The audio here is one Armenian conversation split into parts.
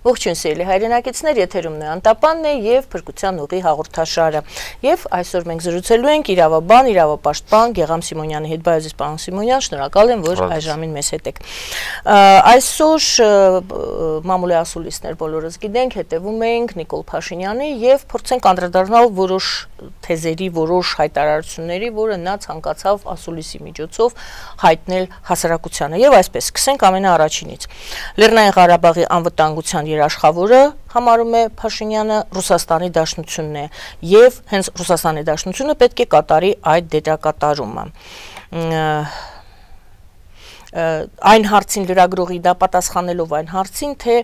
Ողջույն սիրելի հայրենակիցներ, եթերում է Անտապանն է եւ Փրկության ուղի հաղորդաշարը։ Եվ այսօր մենք զրուցելու ենք իրավաբան, իրավապաշտպան Գեգամ Սիմոնյանի հետ։ Բայազիս պարոն Սիմոնյան, շնորհակալ եմ, որ այժմին մեզ հետ եք։ Այսօր մամուլի ասուլիսներ բոլորս գիտենք, հետևում ենք Նիկոլ Փաշինյանի եւ փորձենք անդրադառնալ որոշ թեզերի, որոշ հայտարարությունների, որը նա ցանկացավ ասուլիսի միջոցով հայտնել հասարակությանը։ Եվ այսպես սկսենք ամենաառաջինից։ Լեռնային Ղարաբաղի անվտանգության երաշխավորը համարում է Փաշինյանը Ռուսաստանի Դաշնությունն է եւ հենց Ռուսաստանի Դաշնությունը պետք է կատարի այդ դերակատարումը։ Այն հարցին լրագրողի դա պատասխանելով այն հարցին, թե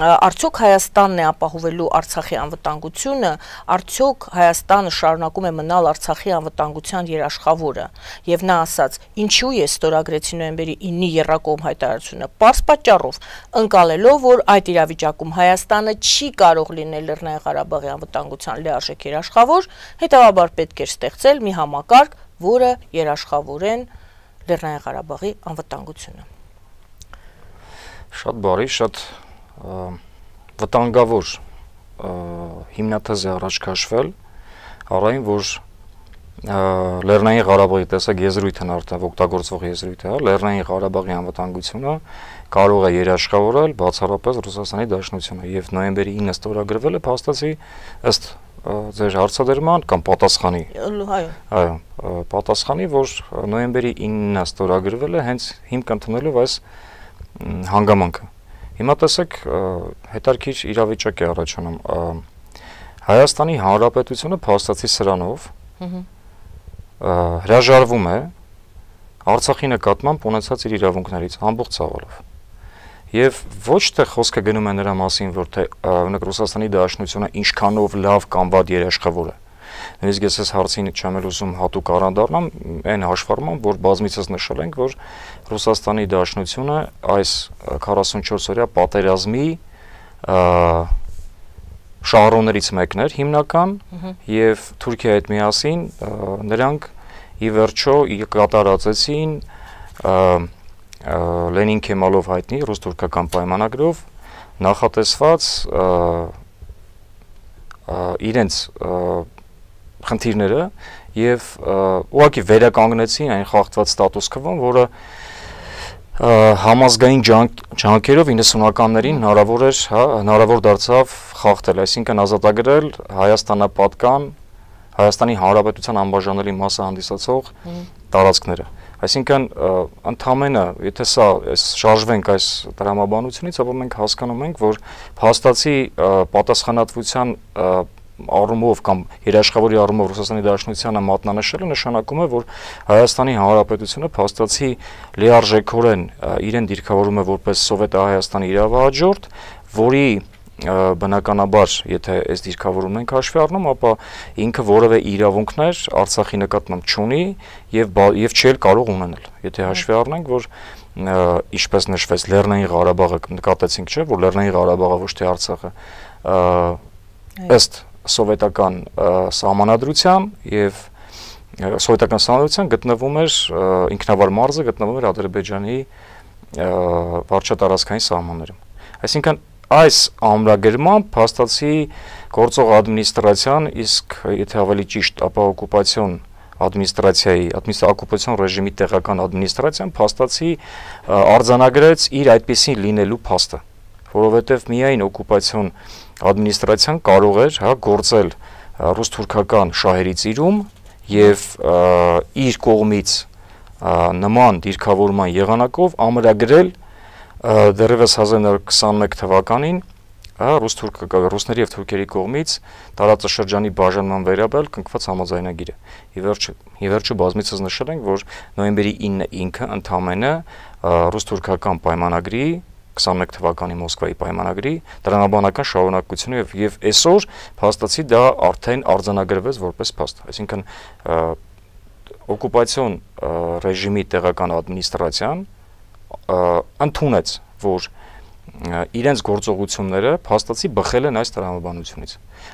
արդյոք Հայաստանն է ապահովելու Արցախի անվտանգությունը, արդյոք Հայաստանը շարունակում է մնալ Արցախի անվտանգության երաշխավորը, եւ նա ասաց, ինչու է ստորագրեցի նոյեմբերի 9-ի եռակողմ հայտարարությունը, պարզ պատճառով, ընկալելով, որ այդ իրավիճակում Հայաստանը չի կարող լինել Լեռնային Ղարաբաղի անվտանգության լիարժեք երաշխավոր, հետեւաբար պետք է ստեղծել մի համակարգ, որը երաշխավորեն Լեռնային Ղարաբաղի անվտանգությունը։ Շատ բարի, շատ վտանգավոր հիմնաթեզ է առաջ քաշվել, առայն որ Լեռնային Ղարաբաղի տեսակ եզրույթն արդեն օգտագործվող եզրույթ է, Լեռնային Ղարաբաղի անվտանգությունը կարող է երաշխավորել բացառապես Ռուսաստանի Դաշնությունը եւ նոյեմբերի 9-ը ստորագրվել է փաստացի ըստ ձեր հարցադրման կամ պատասխանի, այո, պատասխանի, որ նոյեմբերի 9-ը ստորագրվել է հենց հիմք ընդունելով այս հանգամանքը։ Հիմա տեսեք, հետարքիր իրավիճակ է առաջանում։ Հայաստանի Հանրապետությունը փաստացի սրանով հրաժարվում է Արցախի նկատմամբ ունեցած իր իրավունքներից ամբողջ ցավալով։ Եվ ոչ թե խոսքը գնում է նրա մասին, որ թե Ռուսաստանի Դաշնությունը ինչքանով լավ կամ վատ երաշխավոր է։ Նույնիսկ ես այս հարցին չեմ ուզում հատուկ անդրադառնամ, այն հաշվառմամբ, որ բազմիցս նշել ենք, որ Ռուսաստանի Դաշնությունը այս 44-օրյա պատերազմի շահառուներից մեկն էր հիմնական, եւ Թուրքիայի հետ միասին նրանք ի վերջո կատարածեցին Լենին Քեմալով հայտնի ռուս-թուրքական պայմանագրով նախատեսված իրենց խնդիրները եւ ուղղակի վերականգնեցին այն խախտված ստատուս քվոն, որը համազգային ջանքերով 90-ականներին հնարավոր դարձավ խախտել, այսինքն ազատագրել Հայաստանապատկան Հայաստանի Հանրապետության անբաժանելի մասը հանդիսացող տարածքները։ Այսինքն ընդամենը, եթե սա շարժվենք այս տրամաբանությունից, ապա մենք հասկանում ենք, որ փաստացի պատասխանատվության առումով կամ երաշխավորի առումով Ռուսաստանի Դաշնությանը մատնանշելը նշանակում է, որ Հայաստանի Հանրապետությունը փաստացի լիարժեքորեն իրեն դիրքավորում է որպես Սովետահայաստանի իրավահաջորդ, որի բնականաբար, եթե այս դիրքավորումն ենք հաշվի առնում, ապա ինքը որևէ իրավունքներ Արցախի նկատմամբ չունի եւ չի կարող ունենալ։ Եթե հաշվի առնենք, որ ինչպես նշվեց Լեռնային Ղարաբաղը նկատեցինք, չէ, որ Լեռնային Ղարաբաղը ոչ թե Արցախը ըստ սովետական սահմանադրության եւ սովետական սահմանադրության գտնվում էր ինքնավար մարզը գտնվում էր Ադրբեջանի վարչատարածքային սահմաններում։ Այսինքն այս ամրագրմամբ փաստացի գործող ադմինիստրացիան, իսկ եթե ավելի ճիշտ, ապա օկուպացիոն ադմինիստրացիայի, օկուպացիոն ռեժիմի տեղական ադմինիստրացիան փաստացի արձանագրեց իր այդպիսին լինելու փաստը, որովհետև միայն օկուպացիոն ադմինիստրացիան կարող էր գործել ռուս-թուրքական շահերի ծիրում եւ իր կողմից նման դիրքավորման եղանակով ամրագրել դեռևս 1921 թվականին ռուսների եւ թուրքերի կողմից տարածաշրջանի բաժանման վերաբերյալ կնքված համաձայնագիրը։ Ի վերջո բազմիցս նշել ենք, որ նոյեմբերի 9-ը ինքը ընդամենը ռուս-թուրքական պայմանագրի 21 թվականի Մոսկվայի պայմանագրի տրամաբանական շարունակությունը եւ այսօր փաստացի դա արդեն արձանագրվեց որպես փաստ։ Այսինքն օկուպացիոն ռեժիմի տեղական ադմինիստրացիան ընդունեց, որ իրենց գործողությունները փաստացի բխել են այս տրամաբանությունից։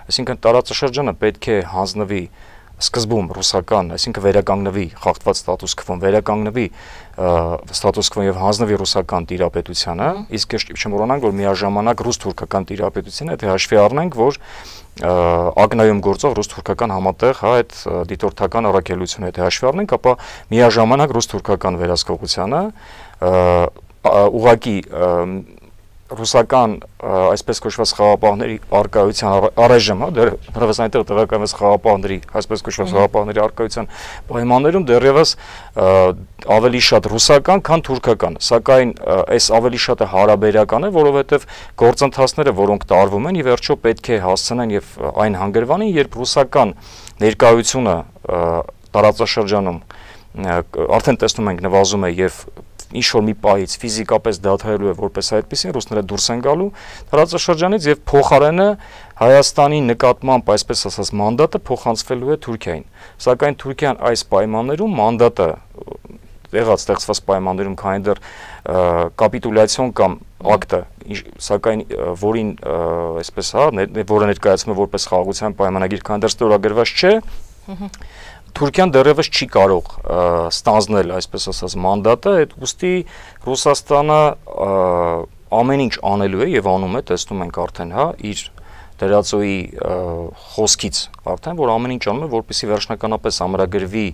Այսինքն տարածաշրջանը պետք է հանձնվի սկզբում ռուսական, այսինքն վերականգնվի խախտված ստատուս քվոն, վերականգնվի ստատուս քվոն եւ հանձնվի ռուսական տիրապետությանը, իսկ չմոռանանք, որ միաժամանակ ռուս-թուրքական տիրապետությունը, եթե հաշվի առնենք, որ ակնայում գործող ռուս-թուրքական համատեղ, հա, այդ դիտորդական առաքելությունը եթե հաշվի առնենք, ապա միաժամանակ ռուս-թուրքական վերահսկողությանը ուղղակի ռուսական այսպես կոչված խաղապահների արկայության առայժմ, հա, դեռևս այնտեղ տեղակայված խաղապահների, այսպես կոչված խաղապահների արկայության պայմաններում դեռևս ավելի շատ ռուսական, քան թուրքական, սակայն այս ավելի շատը հարաբերական է, որովհետև գործընթացները, որոնք տարվում են, ի վերջո պետք է հասցնեն եւ այն հանգրվանին, երբ ռուսական ներկայությունը տարածաշրջանում արդեն տեսնում ենք նվազում է եւ ինչ որ մի պահից ֆիզիկապես դադարելու է որպես այդպեսին, ռուսները դուրս են գալու տարածաշրջանից եւ փոխարենը Հայաստանի նկատմամբ, այսպես ասած, մանդատը փոխանցվելու է Թուրքիային։ Սակայն Թուրքիան այս պայմաններում մանդատը եղած ստեղծված պայմաններում, քանի դեռ կապիտուլյացիոն կամ ակտը, սակայն որին այսպես հա, որը ներկայացվում է որպես խաղաղության պայմանագիր, քանի դեռ ստորագրված չէ, Թուրքիան դեռևս չի կարող ստանձնել, այսպես ասած, մանդատը, այդ ուստի Ռուսաստանը ամեն ինչ անելու է եւ անում է, տեսնում ենք արդեն, հա, իր դերածոյի խոսքից արդեն, որ ամեն ինչ անում է, որպեսզի վերջնականապես ամրագրվի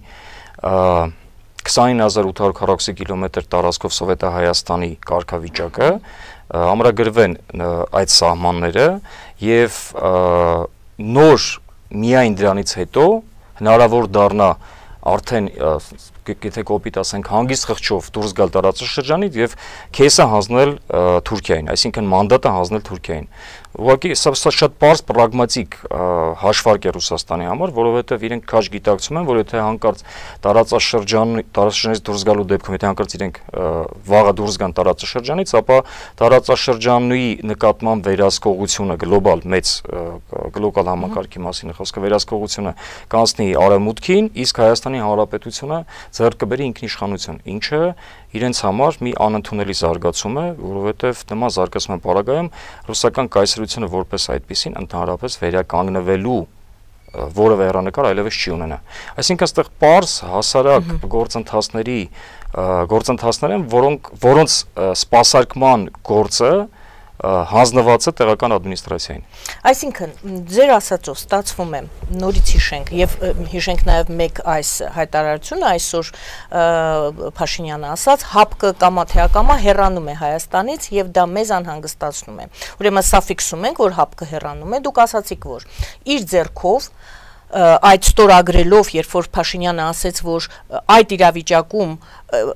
29840 կիլոմետր տարածքով Սովետահայաստանի կարգավիճակը, ամրագրվեն այդ սահմանները եւ նոր միայն դրանից հետո հնարավոր դառնա արդեն եթե կոպիտ ասենք հանգիստ խղճով դուրս գալ տարածաշրջանից եւ քեսը հանձնել Թուրքիային, այսինքն մանդատը հանձնել Թուրքիային։ Ուղղակի սա շատ պարզ պրագմատիկ հաշվարկ է Ռուսաստանի համար, որովհետեւ իրենք քաջ գիտակցում են, որ եթե հանկարծ տարածաշրջանից դուրս գալու դեպքում, եթե հանկարծ իրենք վաղը դուրս գան տարածաշրջանից, ապա տարածաշրջանի նկատմամբ վերահսկողությունը գլոբալ մեծ գլոբալ համակարգի մասին է խոսքը, վերահսկողությունը կանցնի արևմուտքին, իսկ Հայաստանի Հանրապետությունը ձեռք կբերի ինքնիշխանություն, ինչը իրենց համար մի անընդունելի զարգացում է, որովհետև նման զարգացման պարագայում ռուսական կայսրությունը որպես այդպեսին ընդհանրապես վերականգնվելու որևէ հեռանկար այլևս չի ունենա։ Այսինքն այստեղ պարզ հասարակ գործընթացներ են, որոնց սպասարկման գործը հանձնված է տեղական ադմինիստրացիային։ Այսինքն ձեր ասածով ստացվում է նորից հիշենք եւ հիշենք նաեւ մեկ այս հայտարարությունը այսօր Փաշինյանը ասաց ՀԱՊԿ կամա թե ակամա հեռանում է Հայաստանից եւ դա մեզ անհանգստացնում է։ Ուրեմն սա ֆիքսում ենք, որ ՀԱՊԿ հեռանում է, դուք ասացիք, որ իր ձեռքով այդ ստորագրելով, երբ որ Փաշինյանը ասեց, որ այդ իրավիճակում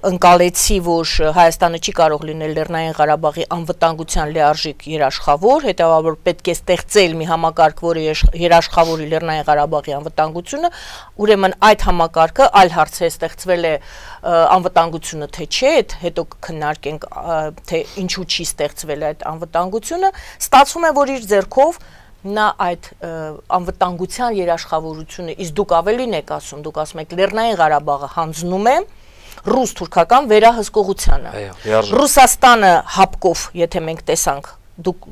ընկալեցի, որ Հայաստանը չի կարող լինել Լեռնային Ղարաբաղի անվտանգության լիարժեք երաշխավոր, հետեւաբար պետք է ստեղծել մի համակարգ, որը երաշխավորի Լեռնային Ղարաբաղի անվտանգությունը, ուրեմն այդ համակարգը այլ հարց է, ստեղծվել է անվտանգությունը թե չէ, հետո քննարկենք, թե ինչու չի ստեղծվել այդ անվտանգությունը, ստացվում է, որ իր ձեռքով նա այդ անվտանգության երաշխավորությունը, իսկ դուք ավելին եք ասում, դուք ասում եք Լեռնային Ղարաբաղը հանձնում է ռուս-թուրքական վերահսկողությանը։ Ռուսաստանը ՀԱՊԿ-ով, եթե մենք տեսանք, դուք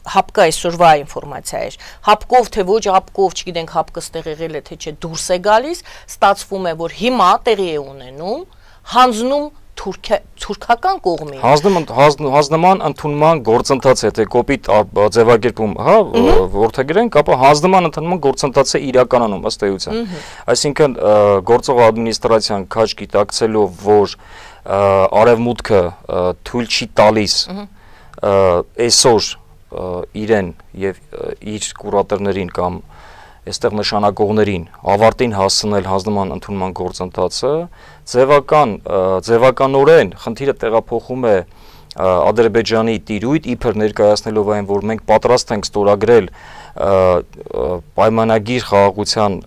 ՀԱՊԿ այսօրվա ինֆորմացիա էր, ՀԱՊԿ-ով թե ոչ ՀԱՊԿ-ով, չգիտենք ՀԱՊԿ ստեղ եղել է թե չէ, դուրս է գալիս, ստացվում է, որ հիմա տեղի է ունենում, հանձնում թուրքական կողմին հանձնման ընդունման գործընթաց է, թե կոպիտ ձևակերպում, հա, որդեգրենք, ապա հանձնման ընդունման գործընթաց է իրականում ըստ էության։ Այսինքն գործող ադմինիստրացիան քաջ գիտակցելով, որ արևմուտքը թույլ չի տալիս այսօր իրեն եւ իր կուրատորներին կամ այստեղ նշանակողներին ավարտին հասցնել հանձնման ընդունման գործընթացը, ձևականորեն խնդիրը տեղափոխում է Ադրբեջանի տիրույթ, իբր ներկայացնելով այն, որ մենք պատրաստ ենք ստորագրել պայմանագիր խաղաղության,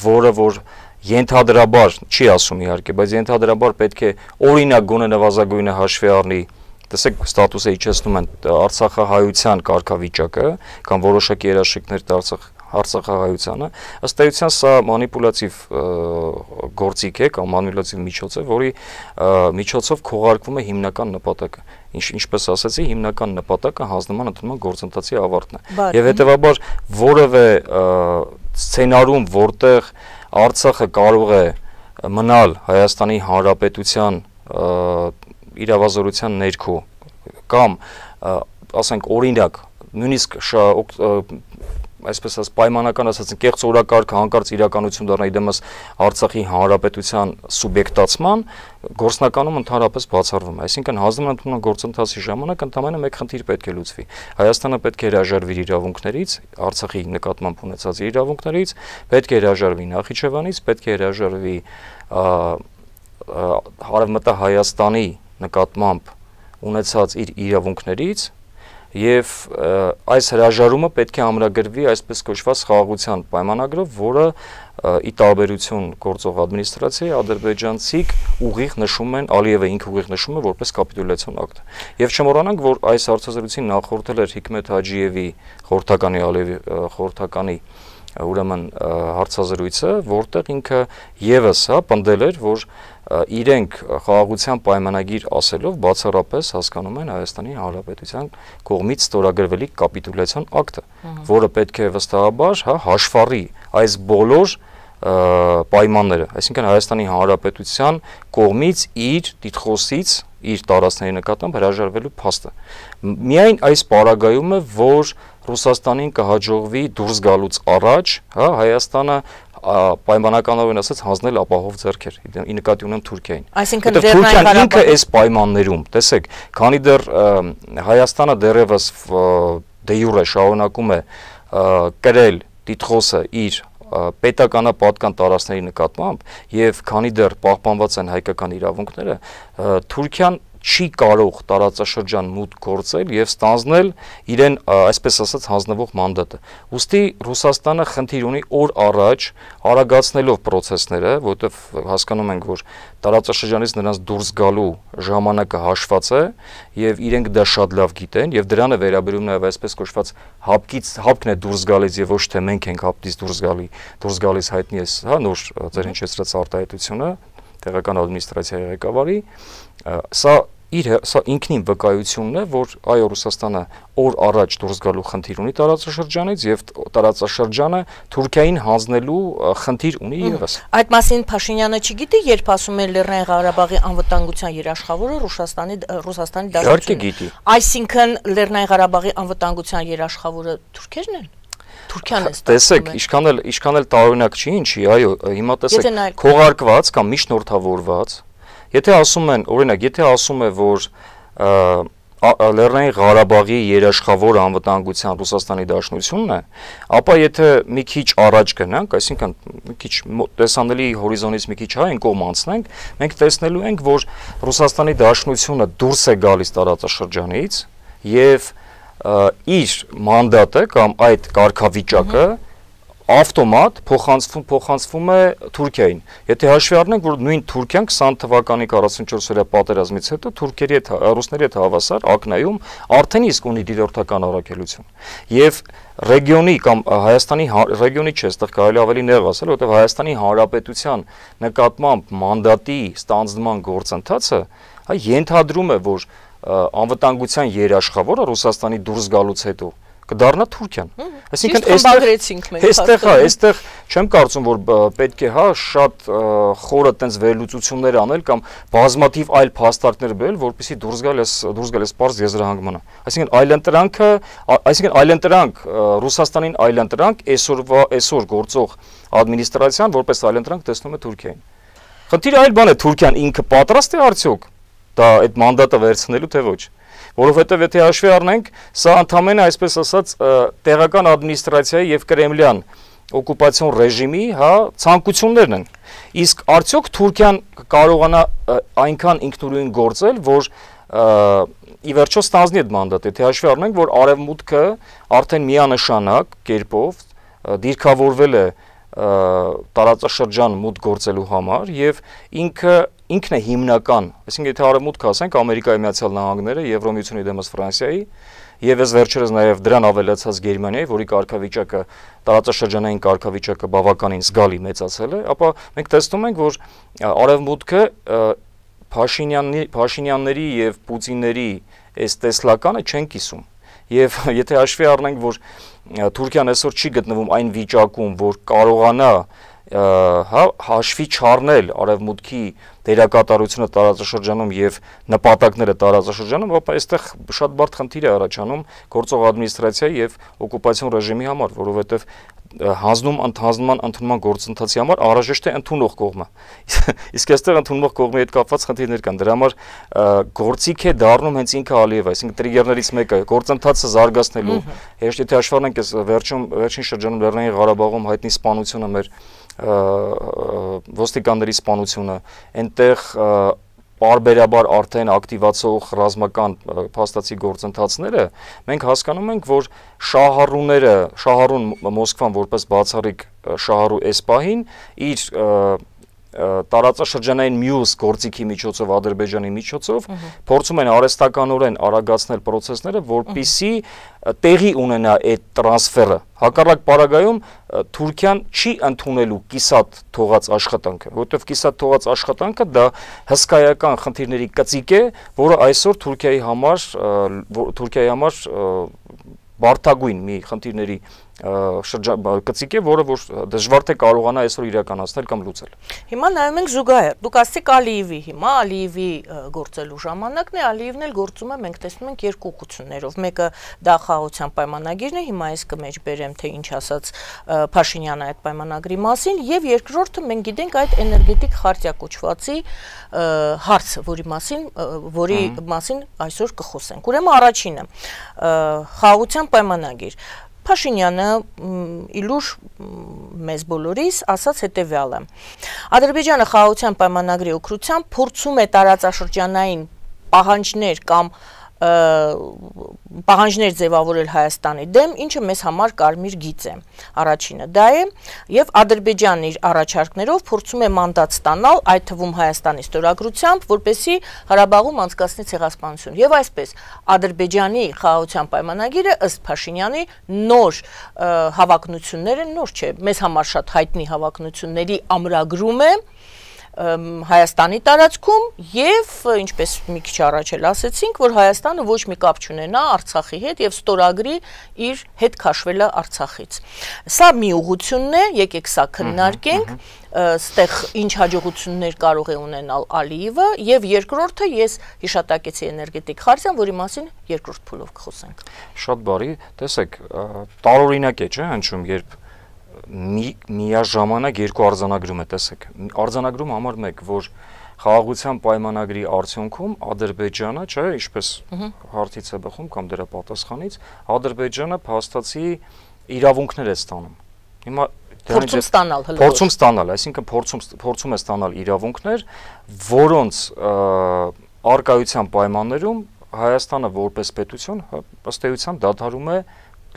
որը որ ենթադրաբար չի ասում իհարկե, բայց ենթադրաբար պետք է օրինակ գոնե նվազագույնը հաշվի առնի, տեսեք ստատուսը իջեցնում են Արցախահայության կարգավիճակը կամ որոշակի երաշխիքներ Արցախահայությանը, ըստ էության սա մանիպուլատիվ գործիք է կամ մանիպուլատիվ միջոց է, որի միջոցով քողարկվում է հիմնական նպատակը։ Ինչպես ասացի, հիմնական նպատակը հանձնման ընդունման գործընթացի ավարտն է։ Եվ հետևաբար որևէ սցենարում, որտեղ Արցախը կարող է մնալ Հայաստանի Հանրապետության իրավազորության ներքո կամ ասենք օրինակ նույնիսկ այսպես ասած պայմանական ասած կեղծ օրակարգը հանկարծ իրականություն դառնա իդեմս Արցախի Հանրապետության սուբյեկտացման գործնականում ընդհանրապես բացառվում է, այսինքն հանձնման ընդունման գործընթացի ժամանակ ընդամենը մեկ խնդիր պետք է լուծվի։ Հայաստանը պետք է հրաժարվի իր իրավունքներից, Արցախի նկատմամբ ունեցած իր իրավունքներից, պետք է հրաժարվի Նախիջևանից, պետք է հրաժարվի Հարավմտահայաստանի նկատմամբ ունեցած իր իրավունքներից եւ այս հրաժարումը պետք է ամրագրվի այսպես կոչված խաղաղության պայմանագրով, որը ի տարբերություն գործող ադմինիստրացիայի ադրբեջանցիք ուղիղ նշում են, Ալիևը ինքը ուղիղ նշում է որպես կապիտուլյացիոն ակտ։ Եվ չմոռանանք, որ այս հարցազրույցին նախորդել էր Հիկմետ Հաջիևի խորհրդականի Ալիևի խորհրդականի ուրեմն հարցազրույցը, որտեղ ինքը եւս պնդել էր, որ իրենք խաղաղության պայմանագիր ասելով բացառապես հասկանում են Հայաստանի Հանրապետության կողմից ստորագրվելի կապիտուլյացիոն ակտը, որը պետք է վստահաբար հաշվառի այս բոլոր պայմանները, այսինքն Հայաստանի Հանրապետության կողմից իր տիտղոսից, իր տարածքների նկատմամբ հրաժարվելու փաստը։ Միայն այս պարագայում է, որ Ռուսաստանին կհաջողվի դուրս գալուց առաջ, Հայաստանը պայմանականորեն ասած հանձնել ապահով ձեռքեր, ի նկատի ունեմ Թուրքիային։ Այսինքն Թուրքիան ինքը այս պայմաններում, տեսեք, քանի դեռ Հայաստանը դեռևս դե յուրե շարունակում է կրել տիտղոսը իր պետականապատկան տարածքների նկատմամբ եւ քանի դեռ պահպանված են հայկական իրավունքները, Թուրքիան չի կարող տարածաշրջան մուտք գործել եւ ստանձնել իրեն այսպես ասած հանձնվող մանդատը։ Ուստի Ռուսաստանը խնդիր ունի օր առաջ արագացնելով process-ները, որովհետեւ հասկանում ենք, որ տարածաշրջանից նրանց դուրս գալու ժամանակը հաշված է եւ իրենք դա շատ լավ գիտեն եւ դրան է վերաբերում նաեւ այսպես կոչված հապքն է դուրս գալիս եւ ոչ թե մենք ենք հապտից դուրս գալիս հայտնի է, նոր ձեր հնչեցրած արտահայտությունը տեղական ադմինիստրացիայի ղեկավարի, սա ինքնին վկայությունն է, որ այո Ռուսաստանը օր առաջ դուրս գալու խնդիր ունի տարածաշրջանից եւ տարածաշրջանը Թուրքիային հանձնելու խնդիր ունի եւս։ Այդ մասին Փաշինյանը չգիտի, երբ ասում է Լեռնային Ղարաբաղի անվտանգության երաշխավորը Ռուսաստանի դաշնությունն է։ Իհարկե գիտի։ Այսինքն Լեռնային Ղարաբաղի անվտանգության երաշխավորը թուրքերն են։ Թուրքիան է Տեսեք, ինչքան էլ տարօրինակ չի, ինչի, այո, հիմա տեսեք, քողարկված կամ միջնորդավորված, եթե ասում են, օրինակ, եթե ասում է, որ Լեռնային Ղարաբաղի երաշխավոր անվտանգության Ռուսաստանի Դաշնությունն է, ապա եթե մի քիչ առաջ գնանք, այսինքն մի քիչ տեսանելի հորիզոնից մի քիչ այն կողմ անցնենք, մենք տեսնելու ենք, որ Ռուսաստանի Դաշնությունը դուրս է գալիս տարածաշրջանից եւ իր մանդատը կամ այդ կարգավիճակը ավտոմատ փոխանցվում է Թուրքիային։ Եթե հաշվի առնենք, որ նույն Թուրքիան 20 թվականի 44-օրյա պատերազմից հետո ռուսների հետ հավասար ակնայում արդեն իսկ ունի դիտորդական առաքելություն։ Եվ ռեգիոնի կամ Հայաստանի ռեգիոնի չէ, այստեղ կարելի ավելի նեղ ասել, որովհետև Հայաստանի Հանրապետության նկատմամբ մանդատի ստանձնման գործընթացը ենթադրում է, որ անվտանգության երաշխավորը Ռուսաստանի դուրս գալուց հետո կդառնա Թուրքիան։ Այսինքն այստեղ չեմ կարծում, որ պետք է շատ խորը տենց վերլուծություններ անել կամ բազմաթիվ այլ փաստարկներ բերել, որպեսզի դուրս գալ այս պարզ եզրահանգմանը։ Այսինքն այլընտրանք Ռուսաստանին այլընտրանք այսօր գործող ադմինիստրացիան որպես այլընտրանք տեսնում է Թուրքիային։ Խնդիրը այլ բան է, Թուրքիան ինքը պատրաստ է արդյոք դա այդ մանդատը վերցնելու թե ոչ։ Որովհետև եթե հաշվի առնենք, սա ընդհանրապես այսպես ասած տեղական ադմինիստրացիայի եւ կրեմլյան օկուպացիոն ռեժիմի, ցանկություններն են։ Իսկ արդյոք Թուրքիան կարողանա այնքան ինքնուրույն գործել, որ ի վերջո ստանձնի այդ մանդատը, եթե հաշվի առնենք, որ Արևմուտքը արդեն միանշանակ կերպով դիրքավորվել է տարածաշրջան մուտք գործելու համար եւ ինքն է հիմնական, այսինքն եթե Արևմուտքը ասենք Ամերիկայի Միացյալ Նահանգները, Եվրոմիությունի դեմս Ֆրանսիայի եւ այս վերջերս նաեւ դրան ավելացած Գերմանիայի, որի կարգավիճակը տարածաշրջանային կարգավիճակը բավականին զգալի մեծացել է, ապա մենք տեսնում ենք, որ Արևմուտքը Փաշինյանների եւ Պուտինների այս տեսլականը չեն կիսում։ Եվ եթե հաշվի առնենք, որ Թուրքիան այսօր չի գտնվում այն վիճակում, որ կարողանա հաշվի չառնել արևմուտքի դերակատարությունը տարածաշրջանում եւ նպատակները տարածաշրջանում, ապա այստեղ շատ բարդ խնդիր է առաջանում գործող ադմինիստրացիայի եւ օկուպացիոն ռեժիմի համար, որովհետեւ ընդունման գործընթացի համար անհրաժեշտ է ընդունող կողմը։ Իսկ այստեղ ընդունող կողմի հետ կապված խնդիրներ կան։ Դրա համար գործիք է դառնում հենց ինքը Ալիևը, այսինքն տրիգերներից մեկը գործընթացը զարգացնելու։ Հեշտ եթե հաշվառենք այս վերջին շրջանում Լեռնային Ղարաբաղում հայտնի սպանությունը մեր ոստիկանների սպանությունը, այնտեղ պարբերաբար արդեն ակտիվացող ռազմական փաստացի գործընթացները, մենք հասկանում ենք, որ շահառուն Մոսկվան որպես բացառիկ շահառու էսպահին իր տարածաշրջանային մյուս գործիքի միջոցով, Ադրբեջանի միջոցով փորձում են արհեստականորեն արագացնել process-ները, որպեսզի տեղի ունենա այդ տրանսֆերը։ Հակառակ պարագայում Թուրքիան չի ընդունելու կիսատ թողած աշխատանքը, որովհետև կիսատ թողած աշխատանքը դա հսկայական խնդիրների կծիկ է, որը այսօր Թուրքիայի համար բարդագույն մի խնդիրների կծիկ է, որը որ դժվար թե կարողանա այսօր իրականացնել կամ լուծել։ Հիմա նայում ենք զուգահեռ։ Դուք ասեցիք Ալիևի, հիմա Ալիևի գործելու ժամանակն է, Ալիևն էլ գործում է, մենք տեսնում ենք երկու ուղղություններով։ Մեկը դա խաղաղության պայմանագիրն է, հիմա ես կմեջ բերեմ, թե ինչ ասաց Փաշինյանը այդ պայմանագրի մասին, եւ երկրորդը մենք գիտենք այդ էներգետիկ խարտիա կոչվածի հարցը, որի մասին այսօր կխոսենք։ Ուրեմն առաջինը խաղաղության պայմանագիր։ Փաշինյանը իլուր մեզ բոլորիս ասաց հետևյալը. Ադրբեջանը խաղաղության պայմանագրի օգնությամբ փորձում է տարածաշրջանային պահանջներ կամ պահանջներ ձևավորել Հայաստանի դեմ, ինչը մեզ համար կարմիր գիծ է։ Առաջինը դա է, եւ Ադրբեջանն իր առաջարկներով փորձում է մանդատ ստանալ, այդ թվում Հայաստանի ստորագրությամբ, որպեսզի Ղարաբաղում անցկացնի ցեղասպանություն։ Եվ այսպես Ադրբեջանի խաղաղության պայմանագիրը ըստ Փաշինյանի նոր հավակնությունները, նոր չէ, մեզ համար շատ հայտնի հավակնությունների ամրագրում է Հայաստանի տարածքում եւ ինչպես մի քիչ առաջ էլ ասեցինք, որ Հայաստանը ոչ մի կապ չունենա Արցախի հետ եւ ստորագրի իր հետ քաշվելը Արցախից։ Սա մի ուղղությունն է, եկեք սա քննարկենք, ստեղ ինչ հաջողություններ կարող է ունենալ Ալիևը եւ երկրորդը ես հիշատակեցի էներգետիկ խարտիան, որի մասին երկրորդ փուլով կխոսենք։ Շատ բարի, տեսեք, տարօրինակ է, չէ՞, հնչում, երբ միաժամանակ երկու արձանագրում է, տեսեք, արձանագրում համար մեկ, որ խաղաղության պայմանագրի արդյունքում Ադրբեջանը, չէ, ինչպես հարցից է բխում կամ դրա պատասխանից, Ադրբեջանը փաստացի իրավունքներ է ստանում։ Հիմա փորձում ստանալ, այսինքն փորձում է ստանալ իրավունքներ, որոնց առկայության պայմաններում Հայաստանը որպես պետություն ըստ էության դադարում է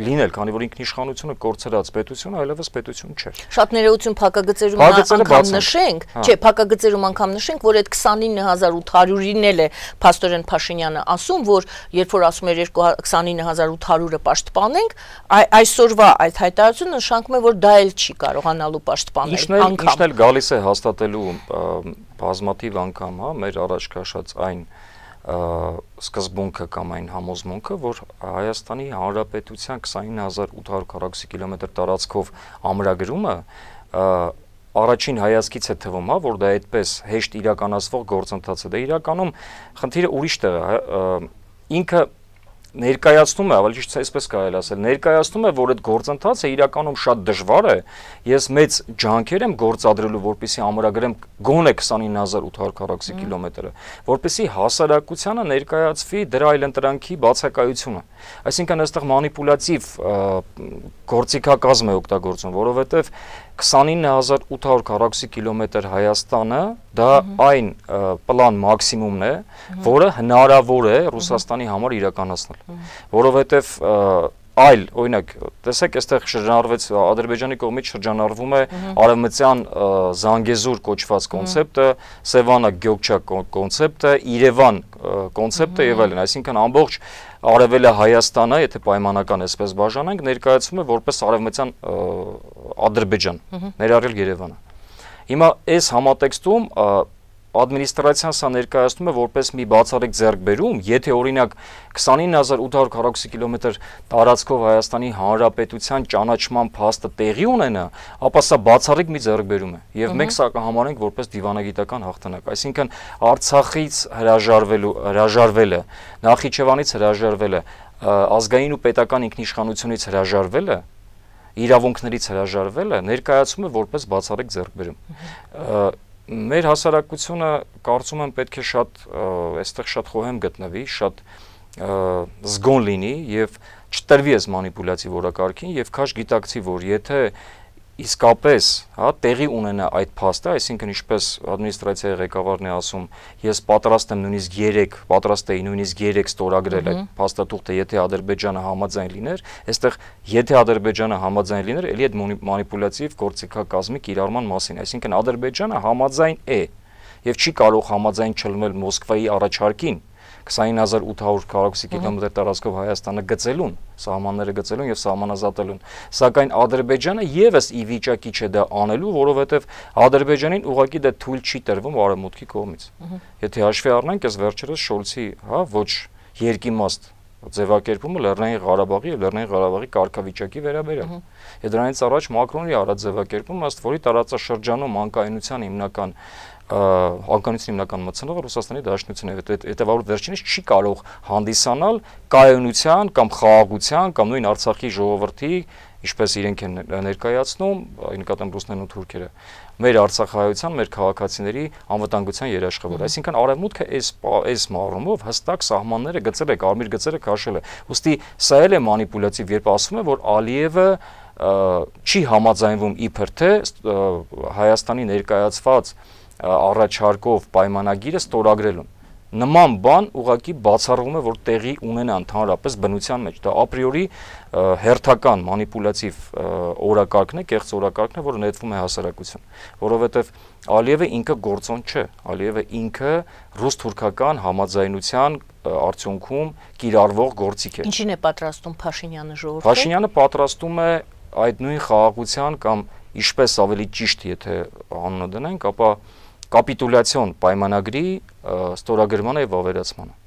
լինել, քանի որ ինքնիշխանությունը կորցրած պետություն այլևս պետություն չէ։ Շատ ներողություն փակագծերում անգամ նշենք, չէ, փակագծերում անգամ նշենք, որ այդ 29800-ին էլ է Փաստորեն Փաշինյանը ասում, որ երբ որ ասում էր 29800-ը պաշտպանենք, այսօրվա այդ հայտարարությունը նշանակում է, որ դա էլ չի կարողանալու պաշտպանել անգամ։ Ինչն էլ գալիս է հաստատելու բազմաթիվ անգամ, մեր առաջ քաշած այն սկզբունքը կամ այն համոզմունքը, որ Հայաստանի Հանրապետության 29840 կիլոմետր տարածքով ամրագրումը առաջին հայացքից է թվում, որ դա այդպես հեշտ իրականացվող գործընթաց է։ Դա իրականում խնդիրը ուրիշ տեղ է, ինքը ներկայացնում է, ավելի ճիշտ այսպես կարելի ասել, ներկայացնում է, որ այդ գործընթացը իրականում շատ դժվար է։ Ես մեծ ջանքեր եմ գործադրելու, որպեսզի ամրագրեմ գոնե 29840 կիլոմետրը, որպեսզի հասարակությանը ներկայացվի դրա այլընտրանքի բացակայությունը։ Այսինքն այստեղ մանիպուլատիվ գործիքակազմ է օգտագործում, որովհետև 29840 կիլոմետր Հայաստանը դա այն պլան մաքսիմումն է, որը հնարավոր է Ռուսաստանի համար իրականացնել, որովհետև այլ, օրինակ, տեսեք, այստեղ շրջանառվեց Ադրբեջանի կողմից շրջանառվում է արևմտյան Զանգեզուր կոչված կոնցեպտը, Սևանա Գյոկչա կոնցեպտը, Երևան կոնցեպտը եւ այլն, այսինքն ամբողջ Արևելը Հայաստանը, եթե պայմանական այսպես բաժանենք, ներկայացվում է որպես արևմտյան Ադրբեջան, ներառյալ Երևանը։ Հիմա այս համատեքստում ադմինիստրացիան սա ներկայացնում է որպես մի բացառիկ ձեռքբերում, եթե օրինակ 29840 կիլոմետր տարածքով Հայաստանի Հանրապետության ճանաչման փաստը տեղի ունենա, ապա սա բացառիկ մի ձեռքբերում է եւ մենք սա կհամարենք որպես դիվանագիտական հաղթանակ, այսինքն Արցախից հրաժարվելը, Նախիջևանից հրաժարվելը, ազգային ու պետական ինքնիշխանությունից հրաժարվելը, իրավունքներից հրաժարվելը ներկայացում է որպես բացառիկ ձեռքբերում։ Մեր հասարակությունը կարծում եմ պետք է այստեղ շատ խոհեմ գտնվի, շատ զգոն լինի եւ չտրվի այս մանիպուլյացիվ օրակարգին եւ քաշ գիտակցի, որ եթե իսկապես տեղի ունենա այդ փաստը, այսինքն ինչպես ադմինիստրացիայի ղեկավարն է ասում, ես պատրաստ եմ նույնիսկ 3 ստորագրել այդ փաստաթուղթը, եթե Ադրբեջանը համաձայն լիներ, այստեղ եթե Ադրբեջանը համաձայն լիներ, ելի այդ մանիպուլյատիվ գործիքակազմի կիրառման մասին, այսինքն Ադրբեջանը համաձայն է եւ չի կարող համաձայն չլինել Մոսկվայի առաջարկին 29840 կիլոմետր տարածքով Հայաստանը գծելուն, սահմանները գծելուն եւ սահմանազատելուն, սակայն Ադրբեջանը եւս ի վիճակի չէ դա անելու, որովհետեւ Ադրբեջանին ուղղակի դա թույլ չի տրվում արևմուտքի կողմից։ Եթե հաշվի առնենք, այս վերջերս Շոլցի, ոչ երկիմաստ ձևակերպումը Լեռնային Ղարաբաղի եւ Լեռնային Ղարաբաղի կարգավիճակի վերաբերյալ։ Եվ դրանից առաջ Մակրոնի արած ձևակերպումը, ըստ որի տարածաշրջանում անկայունության հիմնական մթնողը Ռուսաստանի Դաշնությունն է, հետևաբար վերջինս չի կարող հանդիսանալ կայունության կամ խաղաղության կամ նույն Արցախի ժողովրդի, ինչպես իրենք են ներկայացնում, նկատեմ ռուսներն ու թուրքերը, մեր արցախահայության, մեր քաղաքացիների անվտանգության երաշխավոր։ Այսինքն արևմուտքը այս մառումով հստակ սահմանները գծել է, կարմիր գծերը քաշել է։ Ուստի սա էլ է մանիպուլյատիվ, երբ ասում է, որ Ալիևը չի համաձայնվում իբր թե Հայաստանի ներկայացված առաջարկով պայմանագիրը ստորագրելուն։ Նման բան ուղղակի բացառվում է, որ տեղի ունենա ընդհանրապես բնության մեջ։ Դա ապրիորի հերթական մանիպուլյատիվ օրակարգն է, կեղծ օրակարգն է, որը նետվում է հասարակություն, որովհետև Ալիևը ինքը գործոն չէ, Ալիևը ինքը ռուս-թուրքական համաձայնության արդյունքում կիրառվող գործիք է։ Ինչին է պատրաստում Փաշինյանը ժողովուրդը։ Փաշինյանը պատրաստում է այդ նույն խաղաղության կամ ինչպես ավելի ճիշտ, եթե անունը դնենք, ապա կապիտուլյացիոն պայմանագրի ստորագրմանը եւ ավերացմանը։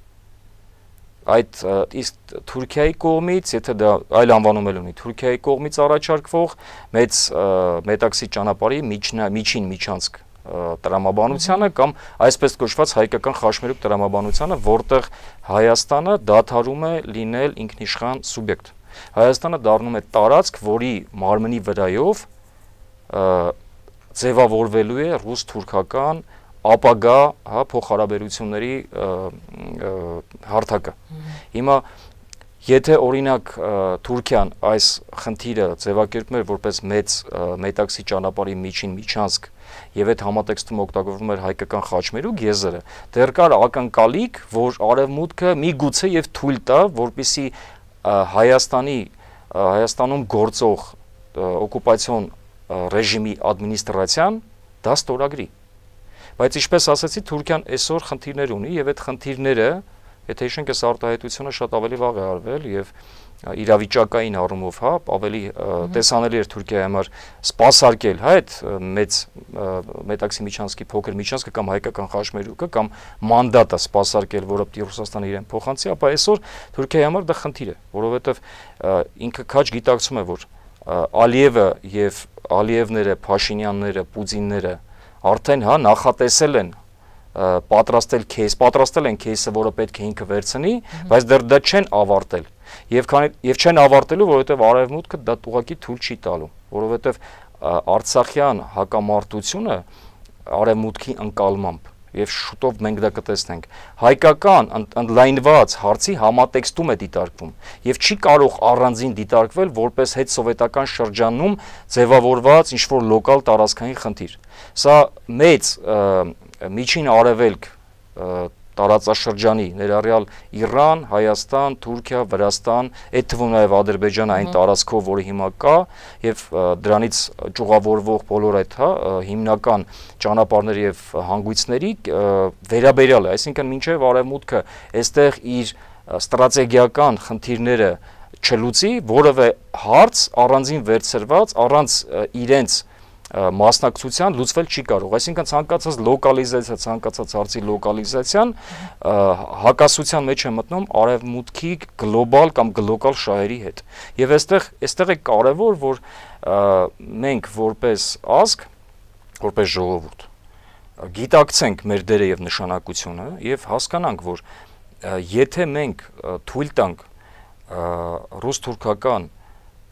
Այդ իսկ Թուրքիայի կողմից, եթե դա այլ անվանում էլ ունի, Թուրքիայի կողմից առաջարկվող մեծ մետաքսի ճանապարհի միջին միջանցք տրամաբանությանը կամ այսպես կոչված հայկական խաշմերուկ տրամաբանությանը, որտեղ Հայաստանը դադարում է լինել ինքնիշխան սուբյեկտ։ Հայաստանը դառնում է տարածք, որի մարմնի վրայով ձևավորվելու է ռուս-թուրքական ապագա փոխհարաբերությունների հարթակը։ Հիմա եթե օրինակ Թուրքիան այս խնդիրը ձևակերպում էր որպես մեծ մետաքսի ճանապարհի միջին միջանցք եւ այդ համատեքստում օգտագործվում էր հայկական խաչմերուկ եզրը, դեռ կար ակնկալիք, որ արևմուտքը միգուցե եւ թույլ տա, որպեսզի Հայաստանում գործող օկուպացիոն ռեժիմի ադմինիստրացիան դա ստորագրի։ Բայց ինչպես ասացի, Թուրքիան այսօր խնդիրներ ունի եւ այդ խնդիրները, եթե հիշենք, այս արտահայտությունը շատ ավելի վաղ է արվել եւ իրավիճակային առումով, ավելի տեսանելի էր Թուրքիայի համար սպասարկել, այդ մեծ մետաքսի միջանցքի փոքր միջանցքը կամ հայկական խաչմերուկը կամ մանդատը սպասարկել, որը պիտի Ռուսաստանը իրեն փոխանցի, ապա այսօր Թուրքիայի համար դա խնդիր է, որովհետեւ ինքը քաջ գիտակցում է, որ Ալիևը եւ Ալիևները, Փաշինյանները, Պուտինները արդեն նախատեսել են պատրաստել են кейսը, որը պետք է ինքը վերցնի, բայց դեռ դա չեն ավարտել։ Եվ չեն ավարտելու, որովհետև արևմուտքը դա ուղղակի թույլ չի տալու, որովհետև Արցախյան հակամարտությունը արևմուտքի ընկալմամբ եւ շուտով մենք դա կտեսնենք։ Հայկական ընդլայնված հարցի համատեքստում է դիտարկվում եւ չի կարող առանձին դիտարկվել որպես հետսովետական շրջանում ձևավորված ինչ-որ լոկալ տարածքային խնդիր։ Սա մեծ միջին արևելք տարածաշրջանի ներառյալ Իրան, Հայաստան, Թուրքիա, Վրաստան, այդ թվում նաև Ադրբեջանը այն տարածքով, որը հիմա կա, եւ դրանից ճյուղավորվող բոլոր այդ հիմնական ճանապարհների եւ հանգույցների վերաբերյալ է, այսինքն մինչեւ արևմուտքը այստեղ իր ստրատեգիական խնդիրները չլուծի, որևէ հարց առանձին վերցրված, առանց իրենց մասնակցության լուծվել չի կարող։ Այսինքն ցանկացած լոկալիզացիա, ցանկացած հարցի լոկալիզացիան հակասության մեջ է մտնում արևմուտքի գլոբալ կամ գլոկալ շահերի հետ։ Եվ այստեղ է կարևոր, որ մենք որպես ազգ, որպես ժողովուրդ գիտակցենք մեր դերը եւ նշանակությունը եւ հասկանանք, որ եթե մենք թույլ տանք ռուս-թուրքական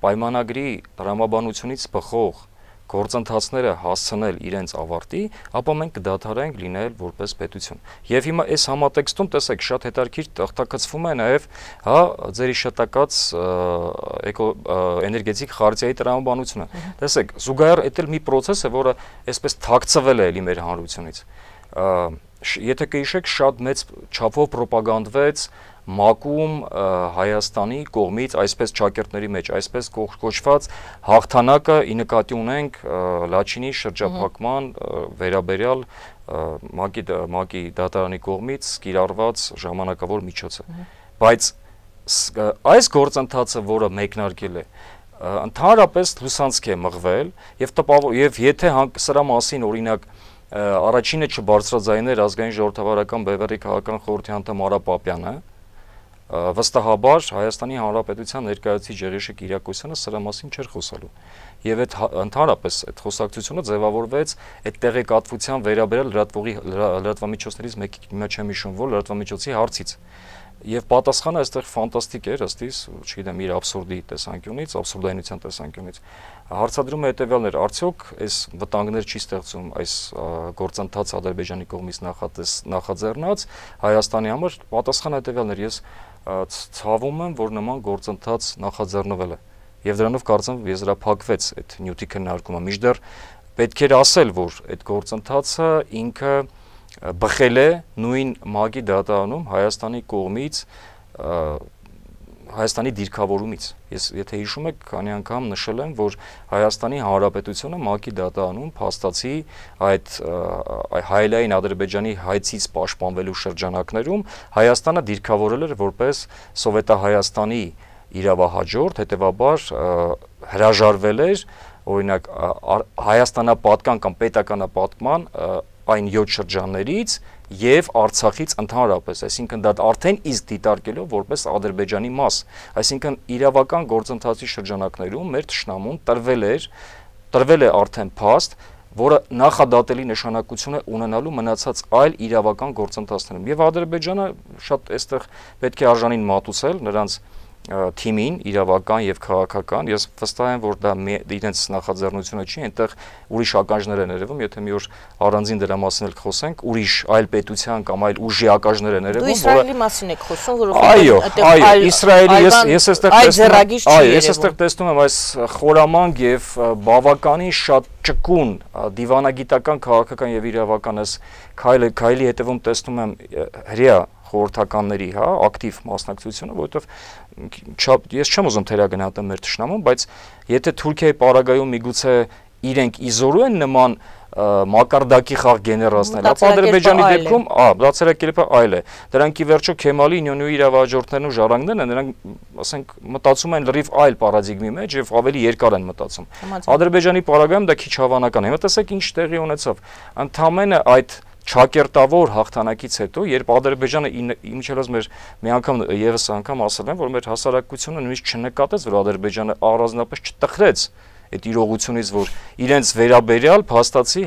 պայմանագրի տրամաբանությունից բխող գործընթացները հասցնել իրենց ավարտի, ապա մենք կդադարենք լինել որպես պետություն։ Եվ հիմա այս համատեքստում տեսեք շատ հետաքրքիր տախտակցվում է նաև ձեր իշտակած էներգետիկ խարտիայի տրամաբանությունը։ Տեսեք, զուգահեռ դա մի process է, որը այսպես թաքցվել է էլի մեր հանրությունից։ Եթե կհիշեք, շատ մեծ չափով պրոպագանդվեց ՄԱԿ-ում Հայաստանի կողմից այսպես ճակերտների մեջ, այսպես կոչված հաղթանակը ի նկատի ունենք Լաչինի շրջափակման վերաբերյալ ՄԱԿ-ի դատարանի կողմից կիրառված ժամանակավոր միջոցը։ Բայց այս գործընթացը, որը մեկնարկել է, ընդհանրապես լուսանցք է մղվել եւ եթե սրա մասին օրինակ առաջինը չբարձրաձայներ ազգային ժողովրդավարական բևեռի քաղաքական խորհրդի անդամ Արա Պապյանը, վստահաբար Հայաստանի Հանրապետության ներկայացուցիչ Եղիշե Կիրակոսյանը սրա մասին չէր խոսալու։ Եվ այդ ընդհանրապես այդ խոսակցությունը ձևավորվեց այդ տեղեկատվության վերաբերյալ լրատվամիջոցներից մեկի, հիմա չեմ հիշում, որ լրատվամիջոցի հարցից։ Եվ պատասխանը այստեղ ֆանտաստիկ էր, ըստիս, չգիտեմ, իր աբսուրդի տեսանկյունից, աբսուրդայնության տեսանկյունից։ Հարցադրումը հետևյալն էր, արդյոք այս վտանգներ չի ստեղծում այս գործընթաց Ադրբեջանի կողմից նախաձեռնած Հայաստանի համար։ Պատասխանը հետևյալն էր, ես ցավում եմ, որ նման գործընթաց նախաձեռնվել է։ Եվ դրանով կարծեմ եզրափակվեց այդ նյութի քննարկումը։ Մինչդեռ պետք էր ասել, որ այդ գործընթացը ինքը բխել է նույն ՄԱԿ-ի դատարանում Հայաստանի կողմից Հայաստանի դիրքավորումից։ Ես եթե հիշում եք, քանի անգամ նշել եմ, որ Հայաստանի Հանրապետությունը ՄԱԿ-ի դատարանում փաստացի այդ հայելային Ադրբեջանի հայցից պաշտպանվելու շրջանակներում Հայաստանը դիրքավորել էր որպես Սովետահայաստանի իրավահաջորդ, հետևաբար հրաժարվել էր օրինակ Հայաստանապատկան կամ պետականապատկման այն 7 շրջաններից եւ Արցախից ընդհանրապես, այսինքն դա արդեն իսկ դիտարկելով որպես Ադրբեջանի մաս, այսինքն իրավական գործընթացի շրջանակներում մեր թշնամուն տրվել է արդեն փաստ, որը նախադատելի նշանակություն է ունենալու մնացած այլ իրավական գործընթացներում։ Եվ Ադրբեջանը շատ այստեղ պետք է արժանին մատուցել նրանց թիմին, իրավական եւ քաղաքական, ես վստահ եմ, որ դա իրենց նախաձեռնությունը չի, այնտեղ ուրիշ ականջներ են երևում, եթե մի օր առանձին դրա մասին էլ խոսենք, ուրիշ այլ պետության կամ այլ ուժի ականջներ են երևում, որը Իսրայելի մասին եք խոսում, որովհետեւ այո, Իսրայելի ես այստեղ տեսնում եմ այս խորամանկ եւ բավականին շատ ճկուն դիվանագիտական, քաղաքական եւ իրավական այս քայլի հետևում տեսնում եմ հրեա խորհրդականների, ակտիվ մասնակցությունը, որովհետև ես չեմ ուզում թերագնահատեմ մեր թշնամուն, բայց եթե Թուրքիայի պարագայում միգուցե իրենք իզորու են նման մակարդակի խաղ գեներացնել, ապա Ադրբեջանի դեպքում, բացերակերպը այլ է։ Դրանք ի վերջո Քեմալի Ինյոնյուի իրավահաջորդներն ու ժառանգներն են, նրանք, ասենք, մտածում են լրիվ այլ պարադիգմի մեջ եւ ավելի երկար են մտածում։ Ադրբեջանի պարագայում դա քիչ հավանական է։ Հիմա տեսեք ինչ տեղի ունեցավ։ Ընդամենը այդ Չակերտավոր հաղթանակից հետո, երբ Ադրբեջանը իմիջելոց մեր մի անգամ եւս անգամ ասել են, որ մեր հասարակությունը նույնիսկ չնկատեց, որ Ադրբեջանը առանձնապես չտխրեց այդ իրողությունից, որ իրենց վերաբերյալ փաստացի,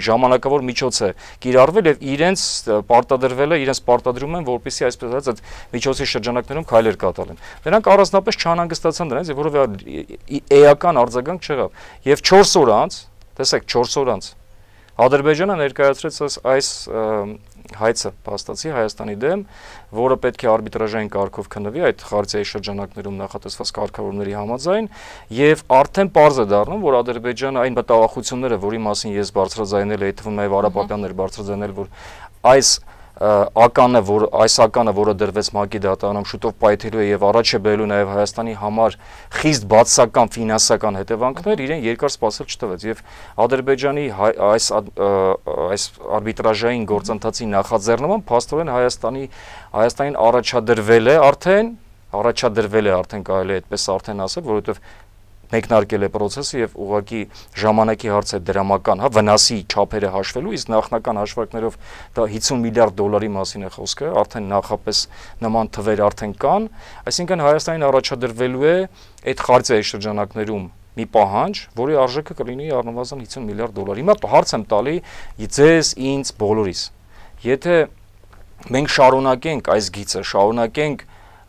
ժամանակավոր միջոց է կիրառվել եւ իրենց պարտադրում են, որպեսզի այսպես ասած այդ միջոցի շրջանակներում քայլեր կատարեն։ Նրանք առանձնապես չանհանգստացան դրանից, որովհետեւ էական արձագանք չեղավ։ Եվ 4 օր անց, տեսեք, 4 օր անց Ադրբեջանը ներկայացրեց այս հայցը փաստացի Հայաստանի դեմ, որը պետք է արբիտրաժային կարգով քննվի այդ խարտիայի շրջանակներում նախատեսված կարգավորումների համաձայն, եւ արդեն պարզ է դառնում, որ Ադրբեջանը այն մտահոգությունները, որի մասին ես բարձրաձայնել եմ, թվում նաև Արա Պապյանն էր բարձրաձայնել, որ այս ականը, որը դրվեց ՄԱԿ-ի դատարանում շուտով պայթելու է եւ առաջ է բերելու նաեւ Հայաստանի համար խիստ բացասական ֆինանսական հետևանքներ, իրեն երկար սպասել չտվեց եւ Ադրբեջանի այս արբիտրաժային գործընթացի նախաձեռնումը փաստորեն Հայաստանին առաջադրվել է արդեն կարելի է այդպես արդեն ասել, որովհետեւ մեկնարկել է process-ը եւ ուղղակի ժամանակի հարց է դրամական, հա, վնասի չափերը հաշվելու, իսկ նախնական հաշվարկներով դա 50 միլիարդ դոլարի մասին է խոսքը, արդեն նախապես նման թվեր արդեն կան, այսինքն Հայաստանին առաջադրվելու է այդ խարտիայի շրջանակներում մի պահանջ, որի արժեքը կլինի առնվազն 50 միլիարդ դոլար։ Հիմա հարց եմ տալի ձեզ, ինձ, բոլորիս։ Եթե մենք շարունակենք այս գիծը, շարունակենք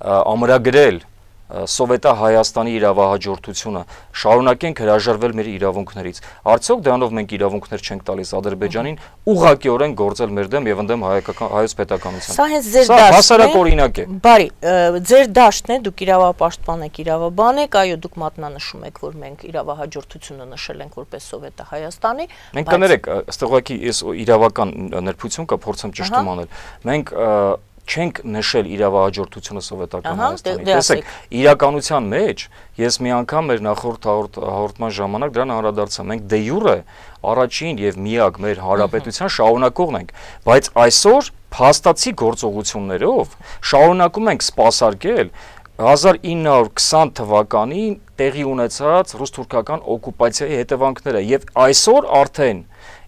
ամրագրել Սովետա Հայաստանի իրավահաջորդությունը, շարունակենք հրաժարվել մեր իրավունքներից, արդյոք դրանով մենք իրավունքներ չենք տալիս Ադրբեջանին ուղղակիորեն գործել մեր դեմ եւ ընդդեմ հայոց պետականության։ Սա հենց ձեր դաշտն է։ Հասարակ օրինակ է։ Բարի, ձեր դաշտն է, դուք իրավապաշտպան եք, իրավաբան եք, այո, դուք մատնանշում եք, որ մենք իրավահաջորդությունը նշել ենք որպես Սովետա Հայաստանի։ Մենք կներեք, ըստ ուղղակի ես իրավական նրբություն կա, փորձեմ ճշտում անել։ Մենք չենք նշել իրավահաջորդությունը Սովետական Հայաստանի։ Տեսեք, իրականության մեջ ես մի անգամ մեր նախորդ հաղորդման ժամանակ դրան անդրադարձա։ Մենք դե յուրե առաջին եւ միակ մեր հանրապետության շարունակողն ենք, բայց այսօր փաստացի գործողություններով շարունակում ենք սպասարկել 1920 թվականին տեղի ունեցած ռուս-թուրքական օկուպացիայի հետևանքները եւ այսօր արդեն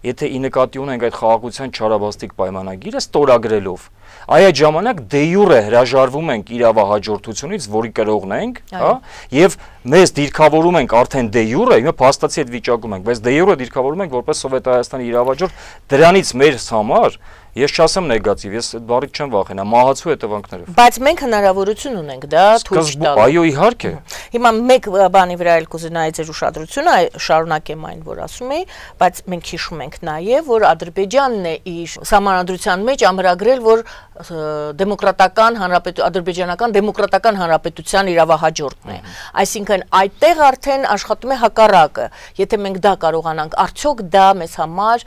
եթե ի նկատի ունենք այդ խաղաղության չարաբաստիկ պայմանագիրը ստորագրելով այ այդ ժամանակ դե յուրե հրաժարվում ենք իրավահաջորդությունից, որի կրողն ենք, հա, եւ մեզ դիրքավորում ենք արդեն դե յուրե, հիմա փաստացի այդ վիճակում ենք, բայց դե յուրե դիրքավորում ենք որպես Սովետ Հայաստանի իրավահաջորդ, դրանից մեր համար ես չասեմ նեգատիվ, ես այդ բառից չեմ վախենա, մահացու հետևանքներով։ Բայց մենք հնարավորություն ունենք դա թույլ տալ։ Այո, իհարկե։ Հիմա մեկ բանի վրա էլ կուզենայի ձեր ուշադրությունը, շարունակեմ այն, որ ասում էի, բայց մենք հիշում ենք նաև, որ Ադրբեջանն է իր սահմանադրության մեջ ամրագրել, որ ադրբեջանական դեմոկրատական հանրապետության իրավահաջորդն է։ Այսինքն այդտեղ արդեն աշխատում է հակառակը։ Եթե մենք դա կարողանանք, արդյոք դա մեզ համար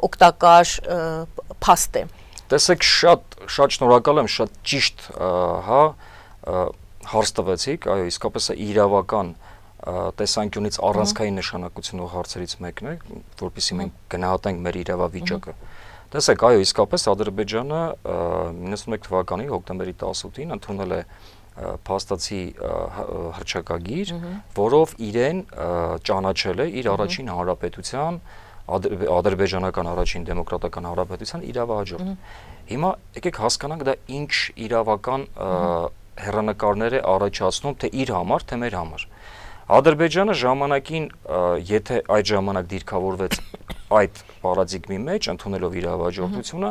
օգտակար փաստ է։ Տեսեք, շատ շնորհակալ եմ, շատ ճիշտ, հա, հարց տվեցիք, այո, իսկապես իրավական տեսանկյունից առանցքային նշանակությունով հարցերից մեկն է, որպեսզի մենք գնահատենք մեր իրավավիճակը։ Տեսեք, այո, իսկապես Ադրբեջանը 91 թվականի հոկտեմբերի 18-ին ընդունել է փաստացի հռչակագիր, որով իրեն ճանաչել է իր առաջին հանրապետության ադրբեջանական առաջին դեմոկրատական հանրապետության իրավահաջորդ։ Հիմա եկեք հասկանանք դա ինչ իրավական հեռանկարներ է առաջացնում թե իր համար, թե մեր համար։ Ադրբեջանը ժամանակին, եթե այդ ժամանակ դիրքավորվեց այդ պարադիգմի մեջ, ընդունելով իրավահաջորդությունը,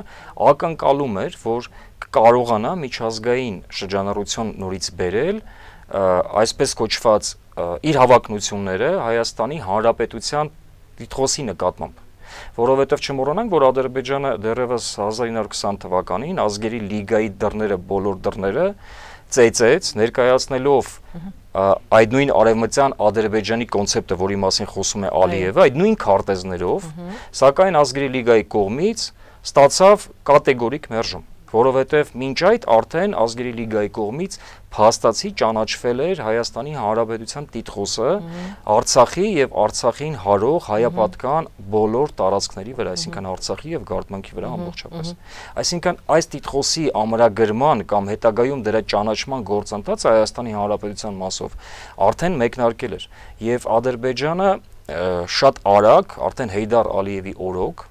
ակնկալում էր, որ կարողանա միջազգային շրջանառություն նորից բերել այսպես կոչված իր հավակնությունները Հայաստանի Հանրապետության դիտխոսի նկատմամբ, որովհետև չմոռանանք, որ Ադրբեջանը դեռևս 1920 թվականին ազգերի լիգայի դռները, բոլոր դռները ծեծեց, ներկայացնելով այդ նույն արևմտյան Ադրբեջանի կոնցեպտը, որի մասին խոսում է Ալիևը, այդ նույն քարտեզներով, սակայն ազգերի լիգայի կողմից ստացավ կատեգորիկ մերժում, որովհետև մինչ այդ արդեն ազգերի լիգայի կողմից փաստացի ճանաչվել էր Հայաստանի Հանրապետության տիտղոսը Արցախի եւ Արցախին հարող հայապատկան բոլոր տարածքների վրա, այսինքն Արցախի եւ Գարդմանքի վրա ամբողջապես։ Այսինքն այս տիտղոսի ամրագրման կամ հետագայում դրա ճանաչման գործընթացը Հայաստանի Հանրապետության մասով արդեն մեկնարկել էր եւ Ադրբեջանը շատ արագ, արդեն Հեյդար Ալիևի օրոք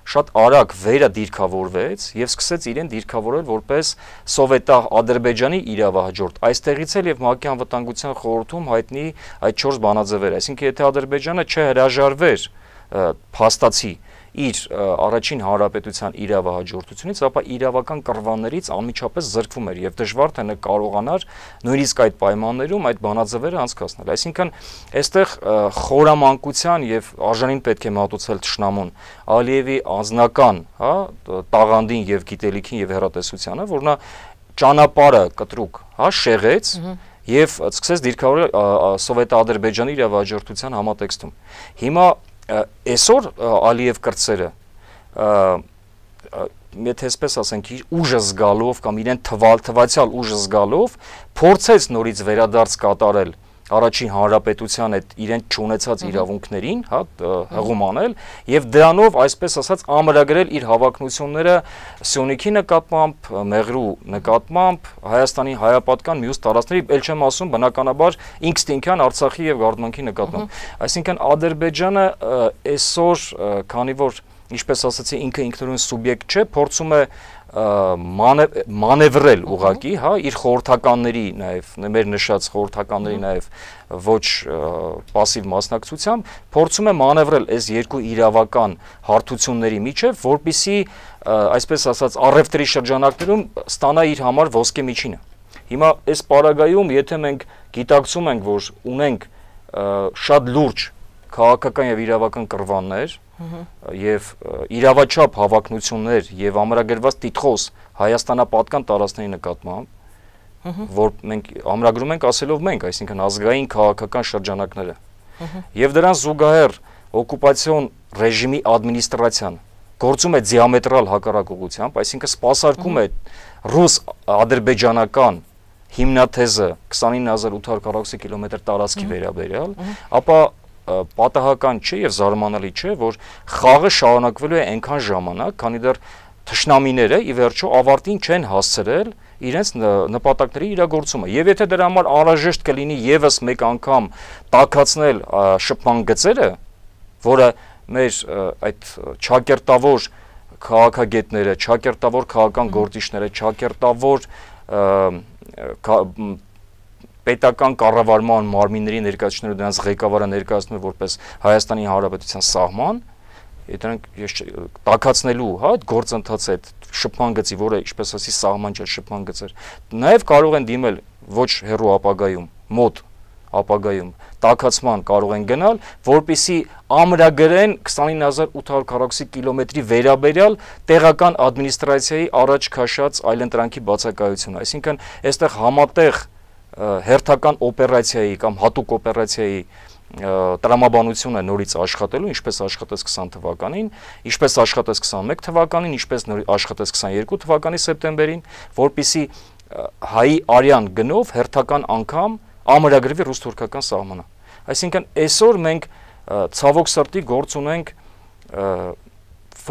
շատ արագ վերա դիրքավորվեց եւ սկսեց իրեն դիրքավորել որպես Սովետա Ադրբեջանի իրավահաջորդ։ Այստեղից էլ եւ ՄԱԿ-ի անվտանգության խորհրդում հայտնի այդ 4 բանաձևերը, այսինքն եթե Ադրբեջանը չհրաժարվեր փաստացի իր առաջին հանրապետության իրավահաջորդությունից, ապա իրավական կռվաններից անմիջապես զրկվում էր եւ դժվար թե կարողանար նույնիսկ այդ պայմաններում այդ բանաձևերը անցկացնել։ Այսինքն այստեղ խորամանկության եւ արժանին պետք է մատուցել թշնամուն Ալիևի անձնական, հա, տաղանդին եւ գիտելիքին եւ հեռատեսությանը, որ նա ճանապարհը կտրուկ, հա, շեղեց եւ սկսեց դիրքավորել Սովետ-Ադրբեջանի իրավահաջորդության համատեքստում։ Հիմա այսօր Ալիև կրտսերը եթե այսպես ասենք իր ուժը զգալով կամ իրեն թվացial ուժը զգալով փորձեց նորից վերադարձ կատարել առաջին հանրապետության այդ իրեն չունեցած իրավունքներին, հա, հղում անել եւ դրանով այսպես ասած ամրագրել իր հավակնությունները Սյունիքի նկատմամբ, Մեղրու նկատմամբ, Հայաստանի հայապատկան մյուս տարածքների, ել չեմ ասում բնականաբար ինքստինքյան Արցախի եւ Գարդմանքի նկատմամբ։ Այսինքն Ադրբեջանը այսօր, քանի որ ինչպես ասացի, ինքը ինքնուրույն սուբյեկտ չէ, փորձում է մանևրել ուղղակի, հա, իր խորհրդականների նաև, մեր նշած խորհրդականների նաև ոչ пассив մասնակցությամբ, փորձում է մանևրել այս երկու իրավական հարթությունների միջև, որպեսզի, այսպես ասած, առևտրի շրջանակներում ստանա իր համար ոսկե միջինը։ Հիմա այս պարագայում, եթե մենք գիտակցում ենք, որ ունենք շատ լուրջ քաղաքական եւ իրավական կռվաններ եւ իրավաչափ հավակնություններ եւ ամրագրված տիտղոս Հայաստանապատկան տարածքների նկատմամբ, որ մենք ամրագրում ենք ասելով մենք, այսինքն ազգային քաղաքական շրջանակները, եւ դրան զուգահեռ օկուպացիոն ռեժիմի ադմինիստրացիան գործում է դիամետրալ հակառակողությամբ, այսինքն սպասարկում է ռուս-ադրբեջանական հիմնաթեզը 29840 կիլոմետր տարածքի վերաբերյալ, ապա պատահական չէ եւ զարմանալի չէ, որ խաղը շարունակվելու է այնքան ժամանակ, քանի դեռ թշնամիները ի վերջո ավարտին չեն հասցրել իրենց նպատակների իրագործումը։ Եվ եթե դրա համար անհրաժեշտ կլինի եւս մեկ անգամ տաքացնել շփման գծերը, որը մեր այդ չակերտավոր քաղաքագետները, չակերտավոր քաղաքական գործիչները, չակերտավոր պետական կառավարման մարմինների ներկայացուցիչները դրանց ղեկավարը ներկայացնում է որպես Հայաստանի Հանրապետության սահման, դրանք տաքացնելու, հա, այդ գործընթացը, այդ շփման գծի, որը ինչպես ասի սահման չէ, շփման գծեր, նաև կարող են դիմել ոչ հեռու ապագայում, մոտ ապագայում տաքացման կարող են գնալ, որպեսզի ամրագրեն 29840 կիլոմետրի վերաբերյալ տեղական ադմինիստրացիայի առաջ քաշած այլընտրանքի բացակայությունը, այսինքն այստեղ համատեղ հերթական օպերացիայի կամ հատուկ օպերացիայի տրամաբանությունը նորից աշխատելու, ինչպես աշխատեց 20 թվականին, ինչպես աշխատեց 21 թվականին, ինչպես աշխատեց 22 թվականի սեպտեմբերին, որպեսզի հայի արյան գնով հերթական անգամ ամրագրվի ռուս-թուրքական սահմանը։ Այսինքն այսօր մենք ցավոք սրտի գործ ունենք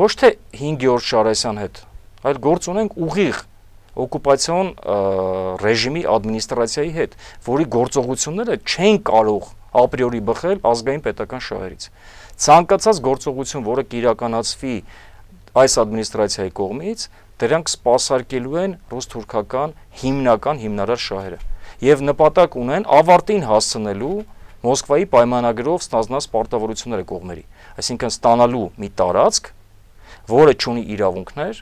ոչ թե 5 Գեորգ Շարասյան հետ, այլ գործ ունենք ուղիղ օկուպացիոն ռեժիմի ադմինիստրացիայի հետ, որի գործողությունները չեն կարող ապրիորի բխել ազգային պետական շահերից։ Ցանկացած գործողություն, որը կիրականացվի այս ադմինիստրացիայի կողմից, դրանք սպասարկելու են ռուս-թուրքական հիմնարար շահերը եւ նպատակ ունեն ավարտին հասցնելու Մոսկվայի պայմանագրով ստանձնած պարտավորությունները կողմերի, այսինքն ստանալու մի տարածք, որը չունի իրավունքներ,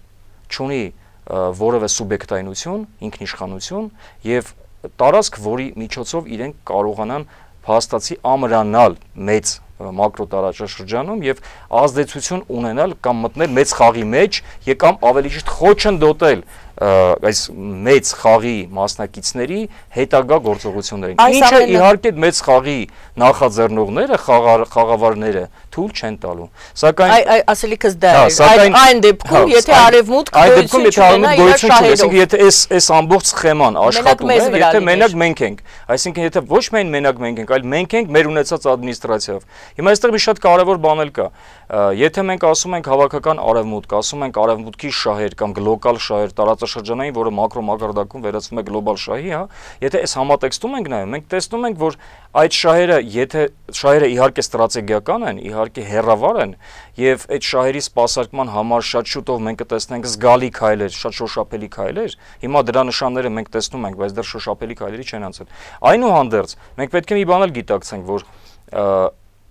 չունի որևէ սուբյեկտայնություն, ինքնիշխանություն եւ տարածք, որի միջոցով իրենք կարողանան փաստացի ամրանալ մեծ մակրո տարածաշրջանում եւ ազդեցություն ունենալ կամ մտնել մեծ խաղի մեջ կամ ավելի ճիշտ խոչընդոտել այս մեծ խաղի մասնակիցների հետագա գործողություններին։ Ինչը իհարկե մեծ խաղի նախաձեռնողները, խաղավարները թույլ չեն տալու։ Սակայն ասելիքս դա է, այն դեպքում, եթե արևմուտք այսինքն եթե այս ամբողջ սխեման աշխատում է, եթե մենակ մենք ենք, այսինքն եթե ոչ միայն մենակ մենք ենք, այլ մենք ենք մեր ունեցած ադմինիստրացիայով։ Հիմա այստեղ մի շատ կարևոր բան էլ կա։ Եթե մենք ասում ենք հավաքական արևմուտք, ասում ենք արևմուտքի շահեր կամ գլոբալ շահեր, տարածաշրջանային, որը մակրո մակարդակում վերածվում է գլոբալ շահի, հա, եթե այս համատեքստում ենք նայում, մենք տեսնում ենք, որ այդ շահերը, եթե շահերը իհարկե ստրատեգիական են, իհարկե հեռավար են, եւ այդ շահերի սպասարկման համար շատ շուտով մենք կտեսնենք զգալի քայլեր, շատ շոշափելի քայլեր։ Հիմա դրա նշանները մենք տեսնում ենք, բայց դեռ շոշափելի քայլերի չեն անցել։ Այնուհանդերձ, մենք պետք է մի բան էլ գիտակցենք, որ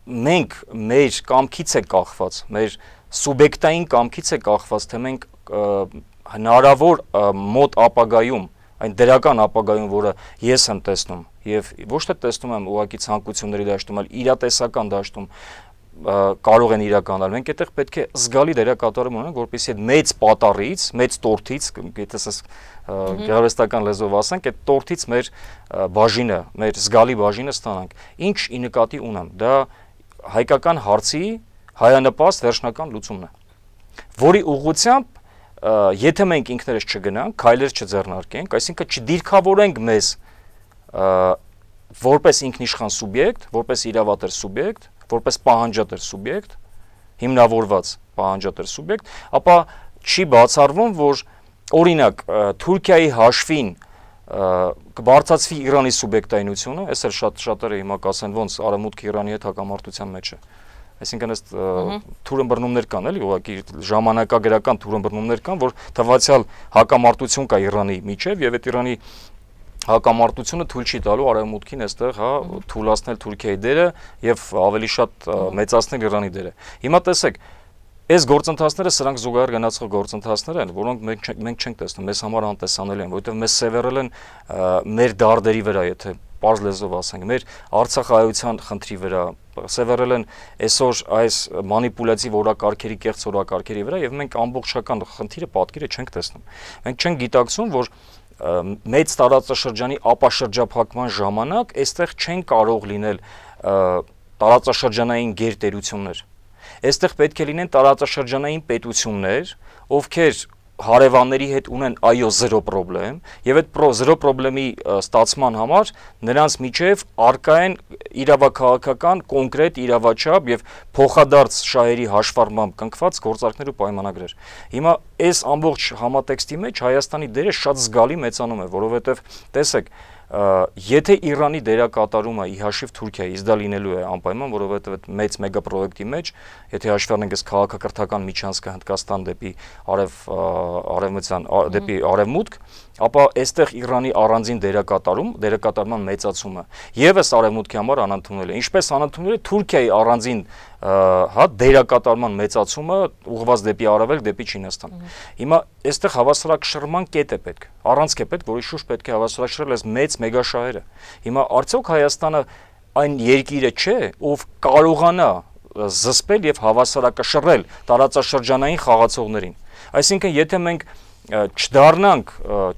մենք մեր կամքից է կախված, մեր սուբյեկտային կամքից է կախված, թե մենք հնարավոր մոտ ապագայում, այն դրական ապագայում, որը ես եմ տեսնում, եւ ոչ թե տեսնում եմ ուղղակի ցանկությունների դաշտում, այլ իրատեսական դաշտում կարող են իրականալ։ Մենք այդտեղ պետք է զգալի դերակատարում ունենանք, որպեսզի այդ մեծ պատառից, մեծ տորթից, եթե ասես գեղարվեստական լեզվով ասենք, այդ տորթից մեր բաժինը, մեր զգալի բաժինը ստանանք։ Ինչ ի նկատի ունեմ, դա հայկական հարցի հայանպաստ վերջնական լուծումն է, որի ուղղությամբ եթե մենք ինքներս չգնանք, քայլեր չձեռնարկենք, այսինքն չդիրքավորենք մեզ որպես ինքնիշխան սուբյեկտ, որպես իրավատեր սուբյեկտ, որպես պահանջատեր սուբյեկտ, հիմնավորված պահանջատեր սուբյեկտ, ապա չի բացառվում, որ օրինակ Թուրքիայի հաշվին կբարձրացվի Իրանի սուբյեկտայնությունը, այս էլ շատերը հիմա կասեն ոնց արևմուտքը Իրանի հետ հակամարտության մեջ է։ Այսինքն այս թուրըմբռնումներ կան, էլի, ուղղակի ժամանակագրական թուրըմբռնումներ կան, որ թվացial հակամարտություն կա Իրանի միջև եւ այդ Իրանի հակամարտությունը թույլ չի տալու արևմուտքին այստեղ, հա, թույլատնել Թուրքիայի դերը եւ ավելի շատ մեծացնել Իրանի դերը։ Հիմա տեսեք, այս գործընթացները սրանք զուգահեռ գնացող գործընթացներ են, որոնք մենք չենք տեսնում, մեզ համար անտեսանելի են, որովհետեւ մեզ սևեռել են մեր դարդերի վրա, եթե պարզ լեզվով ասենք, մեր Արցախայության խնդրի վրա, սևեռել են այսօր այս մանիպուլյատիվ օրակարգերի, կեղծ օրակարգերի վրա եւ մենք ամբողջական խնդիրը, պատկերը չենք տեսնում։ Մենք չենք գիտակցում, որ մեծ տարածաշրջանի ապաշրջափակման ժամանակ այստեղ չեն կարող լինել տարածաշրջանային գերտերություններ։ Այստեղ պետք է լինեն տարածաշրջանային պետություններ, ովքեր հարևանների հետ ունեն այո 0 պրոբլեմ եւ այդ 0 պրոբլեմի ստացման համար նրանց միջև արկա են իրավաքաղաքական կոնկրետ իրավաչափ եւ փոխադարձ շահերի հաշվառմամբ կնքված գործարքներ ու պայմանագրեր։ Հիմա այս ամբողջ համատեքստի մեջ Հայաստանի դերը շատ զգալի մեծանում է, որովհետեւ տեսեք, եթե Իրանի դերակատարումը ի հաշիվ Թուրքիայից դա լինելու է անպայման, որովհետև այդ մեծ մեգապրոյեկտի մեջ, եթե հաշվի առնենք այս քաղաքակրթական միջանցքը Հնդկաստան դեպի արևմտյան դեպի արևմուտք, ապա այստեղ Իրանի առանձին դերակատարման մեծացումը եւս արևմուտքի համար անընդունել է, ինչպես անընդունել է Թուրքիայի առանձին հա դերակատարման մեծացումը ուղղված դեպի արևելք, դեպի Չինաստան։ Հիմա այստեղ հավասարակշռման կետ է պետք, առանցք է պետք, որի շուրջ պետք է հավասարակշռել այս մեծ մեգաշահերը։ Հիմա արդյոք Հայաստանը այն երկիրը չէ, ով կարողանա զսպել եւ հավասարակշռել տարածաշրջանային խաղացողներին։ Այսինքն, եթե մենք չդառնանք,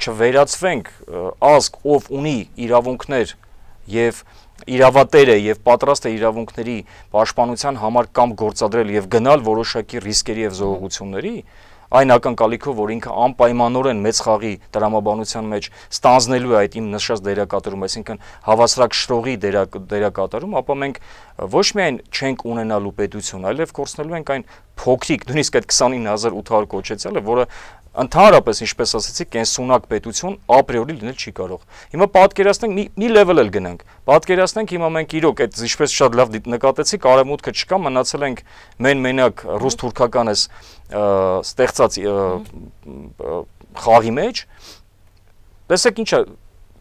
չվերածվենք ազգ, ով ունի իրավունքներ եւ իրավատեր է եւ պատրաստ է իրավունքների պաշտպանության համար կամ գործադրել եւ գնալ որոշակի ռիսկերի եւ զոհողությունների, այն ակնկալիքով, որ ինքը անպայմանորեն մեծ խաղի տրամաբանության մեջ ստանձնելու է այդ իմ նշած դերակատարում, այսինքն հավասարակշռողի դերակատարում, ապա մենք ոչ միայն չենք ունենալու պետություն, այլև կորցնելու ենք այն փոքրիկ, նույնիսկ այդ 29800 կոչեցյալը, որը ընդհանրապես, ինչպես ասացի, կենսունակ պետություն ապրիորի լինել չի կարող։ Հիմա պատկերացնենք մի level էլ գնանք։ Պատկերացնենք հիմա մենք իրոք այդ ինչպես շատ լավ նկատեցիք, արևմուտքը չկա, մնացել ենք մենակ ռուս-թուրքական այս ստեղծած խաղի մեջ։ Տեսեք ինչա,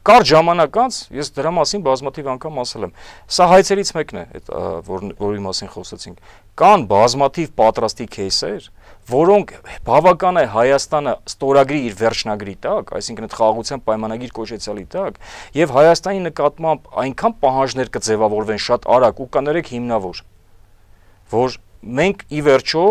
կարճ ժամանակ անց ես դրա մասին բազմաթիվ անգամ ասել եմ։ Սա հայցերից մեկն է, որի մասին խոսեցինք։ Կան բազմաթիվ պատրաստի кейսեր, որոնք բավական է Հայաստանը ստորագրի իր վերջնագրի տակ, այսինքն այդ խաղաղության պայմանագիր կոչեցյալի տակ, եւ Հայաստանի նկատմամբ այնքան պահանջներ կձևավորվեն շատ արագ ու կներեք հիմնավոր, որ մենք ի վերջո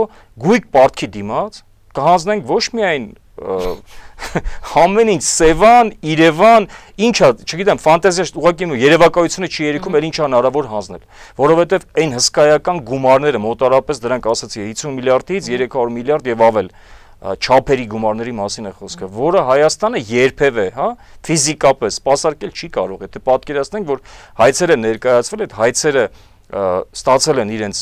գույք պարտքի դիմաց կհանձնենք ոչ միայն ամեն ինչ Սևան, Երևան, ինչա, չգիտեմ, ֆանտազիա ուղղակի երևակայությունը չի երիքում, էլ ինչա հնարավոր հանձնել, որովհետև այն հսկայական գումարները մոտարապես դրանք ասացի 50 միլիարդից 300 միլիարդ եւ ավել չափերի գումարների մասին է խոսքը, որը Հայաստանը երբևէ, հա, ֆիզիկապես սպասարկել չի կարող, եթե պատկերացնենք, որ հայցերը ներկայացվել, այդ հայցերը ստացել են իրենց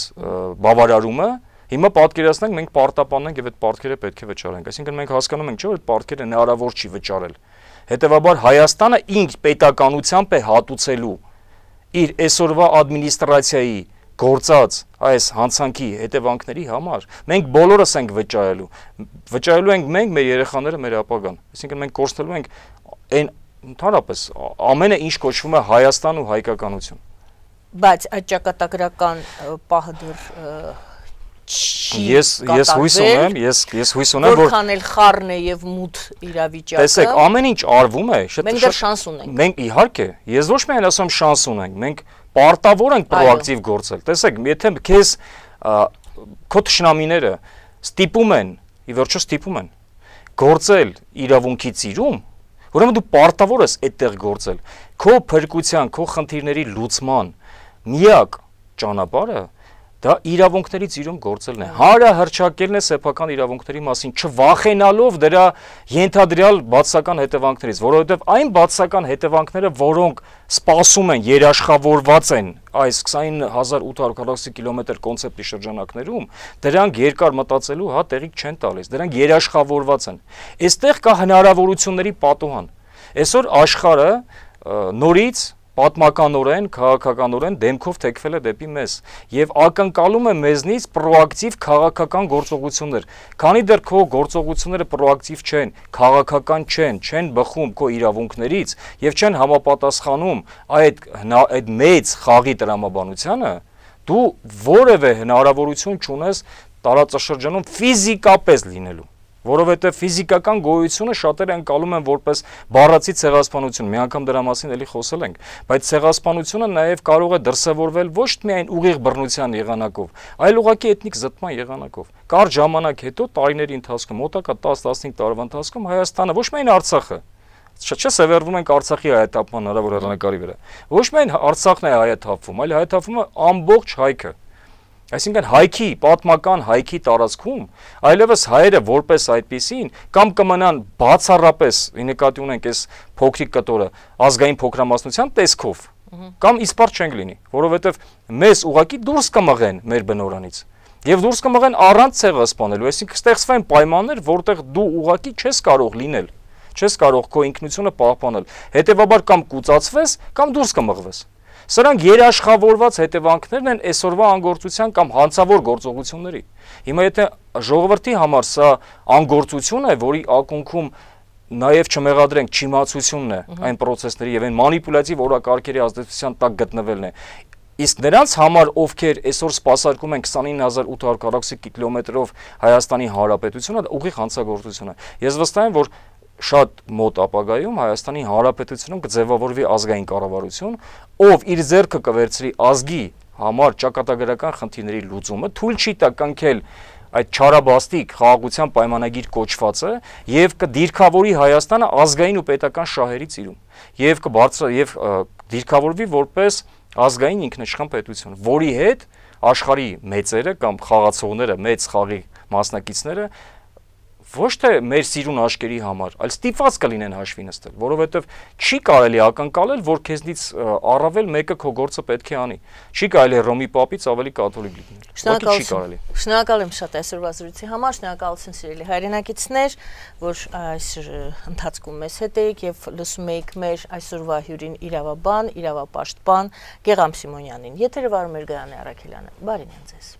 բավարարումը, հիմա պատկերացնենք մենք պարտապանենք եւ այդ պարտքերը պետք է վճարենք, այսինքն մենք հասկանում ենք, չէ՞ որ այդ պարտքերը հնարավոր չի վճարել, հետեւաբար Հայաստանը իր պետականությամբ է հատուցելու իր այսօրվա ադմինիստրացիայի գործած այս հանցանքի հետևանքների համար, մենք բոլորս ենք վճարելու ենք մենք, մեր երեխաները, մեր ապագան, այսինքն մենք կորցնելու ենք այն ընդհանրապես ամենը ինչ կոչվում է Հայաստան ու հայկականություն։ Բայց այդ ճակատագրական պահը դեռ Ես հույս ունեմ, որ որքան էլ խառն է եւ մութ իրավիճակը։ Տեսեք, ամեն ինչ արվում է, մենք դեռ շանս ունենք։ Մենք իհարկե, ես ոչ միայն ասում շանս ունենք, մենք պարտավոր ենք պրոակտիվ գործել։ Տեսեք, եթե քեզ քո թշնամիները ստիպում են, ի վերջո ստիպում են գործել իրավունքի ծիրում, ուրեմն դու պարտավոր ես այդտեղ գործել։ Քո փրկության, քո խնդիրների լուծման միակ ճանապարհը դա իրավունքներից իրում գործելն է, հանրահռչակելն է սեփական իրավունքների մասին, չվախենալով դրա ենթադրյալ բացասական հետևանքներից, որովհետև այն բացասական հետևանքները, որոնք սպասում են, երաշխավորված են այս 29840 կիլոմետր կոնցեպտի շրջանակներում, դրանք երկար մտածելու տեղիք չեն տալիս, դրանք երաշխավորված են։ Այստեղ կա հնարավորությունների պատուհան։ Այսօր աշխարհը նորից պատմականորեն, քաղաքականորեն դեմքով թեքվել է դեպի մեզ եւ ակնկալում է մեզնից պրոակտիվ քաղաքական գործողություններ։ Քանի դեռ քո գործողությունները պրոակտիվ չեն, քաղաքական չեն բխում քո իրավունքներից եւ չեն համապատասխանում այդ մեծ խաղի տրամաբանությանը, դու որևէ հնարավորություն չունես տարածաշրջանում ֆիզիկապես լինելու։ Որովհետև ֆիզիկական գոյությունը շատերը անցալում են որպես բառացի ցեղասպանություն, մի անգամ դրա մասին էլի խոսել ենք, բայց ցեղասպանությունը նաև կարող է դրսևորվել ոչ միայն ուղիղ բռնության եղանակով, այլ ուղղակի էթնիկ զտման եղանակով։ Կարճ ժամանակ հետո, տարիների ընթացքում, մոտակա 10-15 տարվա ընթացքում Հայաստանը, ոչ միայն Արցախը, չէ, սևեռվում ենք Արցախի հայաթափման հնարավոր հեռանկարի վրա, ոչ միայն Արցախն է հայաթափվում, այլ հայաթափվում է ամբողջ հայքը։ Այսինքն հայքի, պատմական հայքի տարածքում այլևս հայերը որպես այդպիսին կամ կմնան բացառապես, նկատի ունենք այս փոքրիկ կտորը, ազգային փոքրամասնության տեսքով, կամ իսպառ չենք լինի, որովհետև մեզ ուղղակի դուրս կմղեն մեր բնորանից եւ դուրս կմղեն առանց ցեղասպանելու, այսինքն ստեղծվեն պայմաններ, որտեղ դու ուղղակի չես կարող լինել, չես կարող քո ինքնությունը պահպանել, հետեւաբար կամ կուծացվես, կամ դուրս կմղվես։ Սրանք երաշխավորված հետևանքներն են այսօրվա անգործության կամ հանցավոր գործողությունների։ Հիմա եթե ժողովրդի համար սա անգործություն է, որի ակունքում նաև չմեղադրենք չիմացությունն է այն process-ների եւ այն մանիպուլյատիվ օրակարգերի ազդեցության տակ գտնվելն է, իսկ նրանց համար, ովքեր այսօր սպասարկում են 29840 կիլոմետրով Հայաստանի Հանրապետությունը, դա ուղիղ հանցագործություն է։ Ես վստահ եմ, որ շատ մոտ ապագայում Հայաստանի Հանրապետությունում կձևավորվի ազգային կառավարություն, ով իր ձեռքը կվերցրի ազգի համար ճակատագրական խնդիրների լուծումը, թույլ չի տա կնքել այդ չարաբաստիկ խաղաղության պայմանագիր կոչվածը եւ կդիրքավորի Հայաստանը ազգային ու պետական շահերից իրում եւ դիրքավորվի որպես ազգային ինքնիշխան պետություն, որի հետ աշխարհի մեծերը կամ խաղացողները, մեծ խաղի մասնակիցները ոչ թե մեր սիրուն աշկերի համար, այլ ստիպված կլինեն հաշվի նստել, որովհետև չի կարելի ակնկալել, որ քեզնից առավել մեկը քո գործը պետք է անի։ Չի կարելի Ռոմի պապից ավելի կաթոլիկ լինել։ Չի կարելի։ Շնորհակալ եմ շատ այսօրվա զրույցի համար, շնորհակալություն սիրելի հայրենակիցներ, որ այս ընթացքում մեզ հետ եք եւ լսում եք մեր այսօրվա հյուրին իրավաբան, իրավապաշտպան Գեղամ Սիմոնյանին։ Եթերը վարում էր Գայանե Առաքելյանը։ Բարին ձեզ։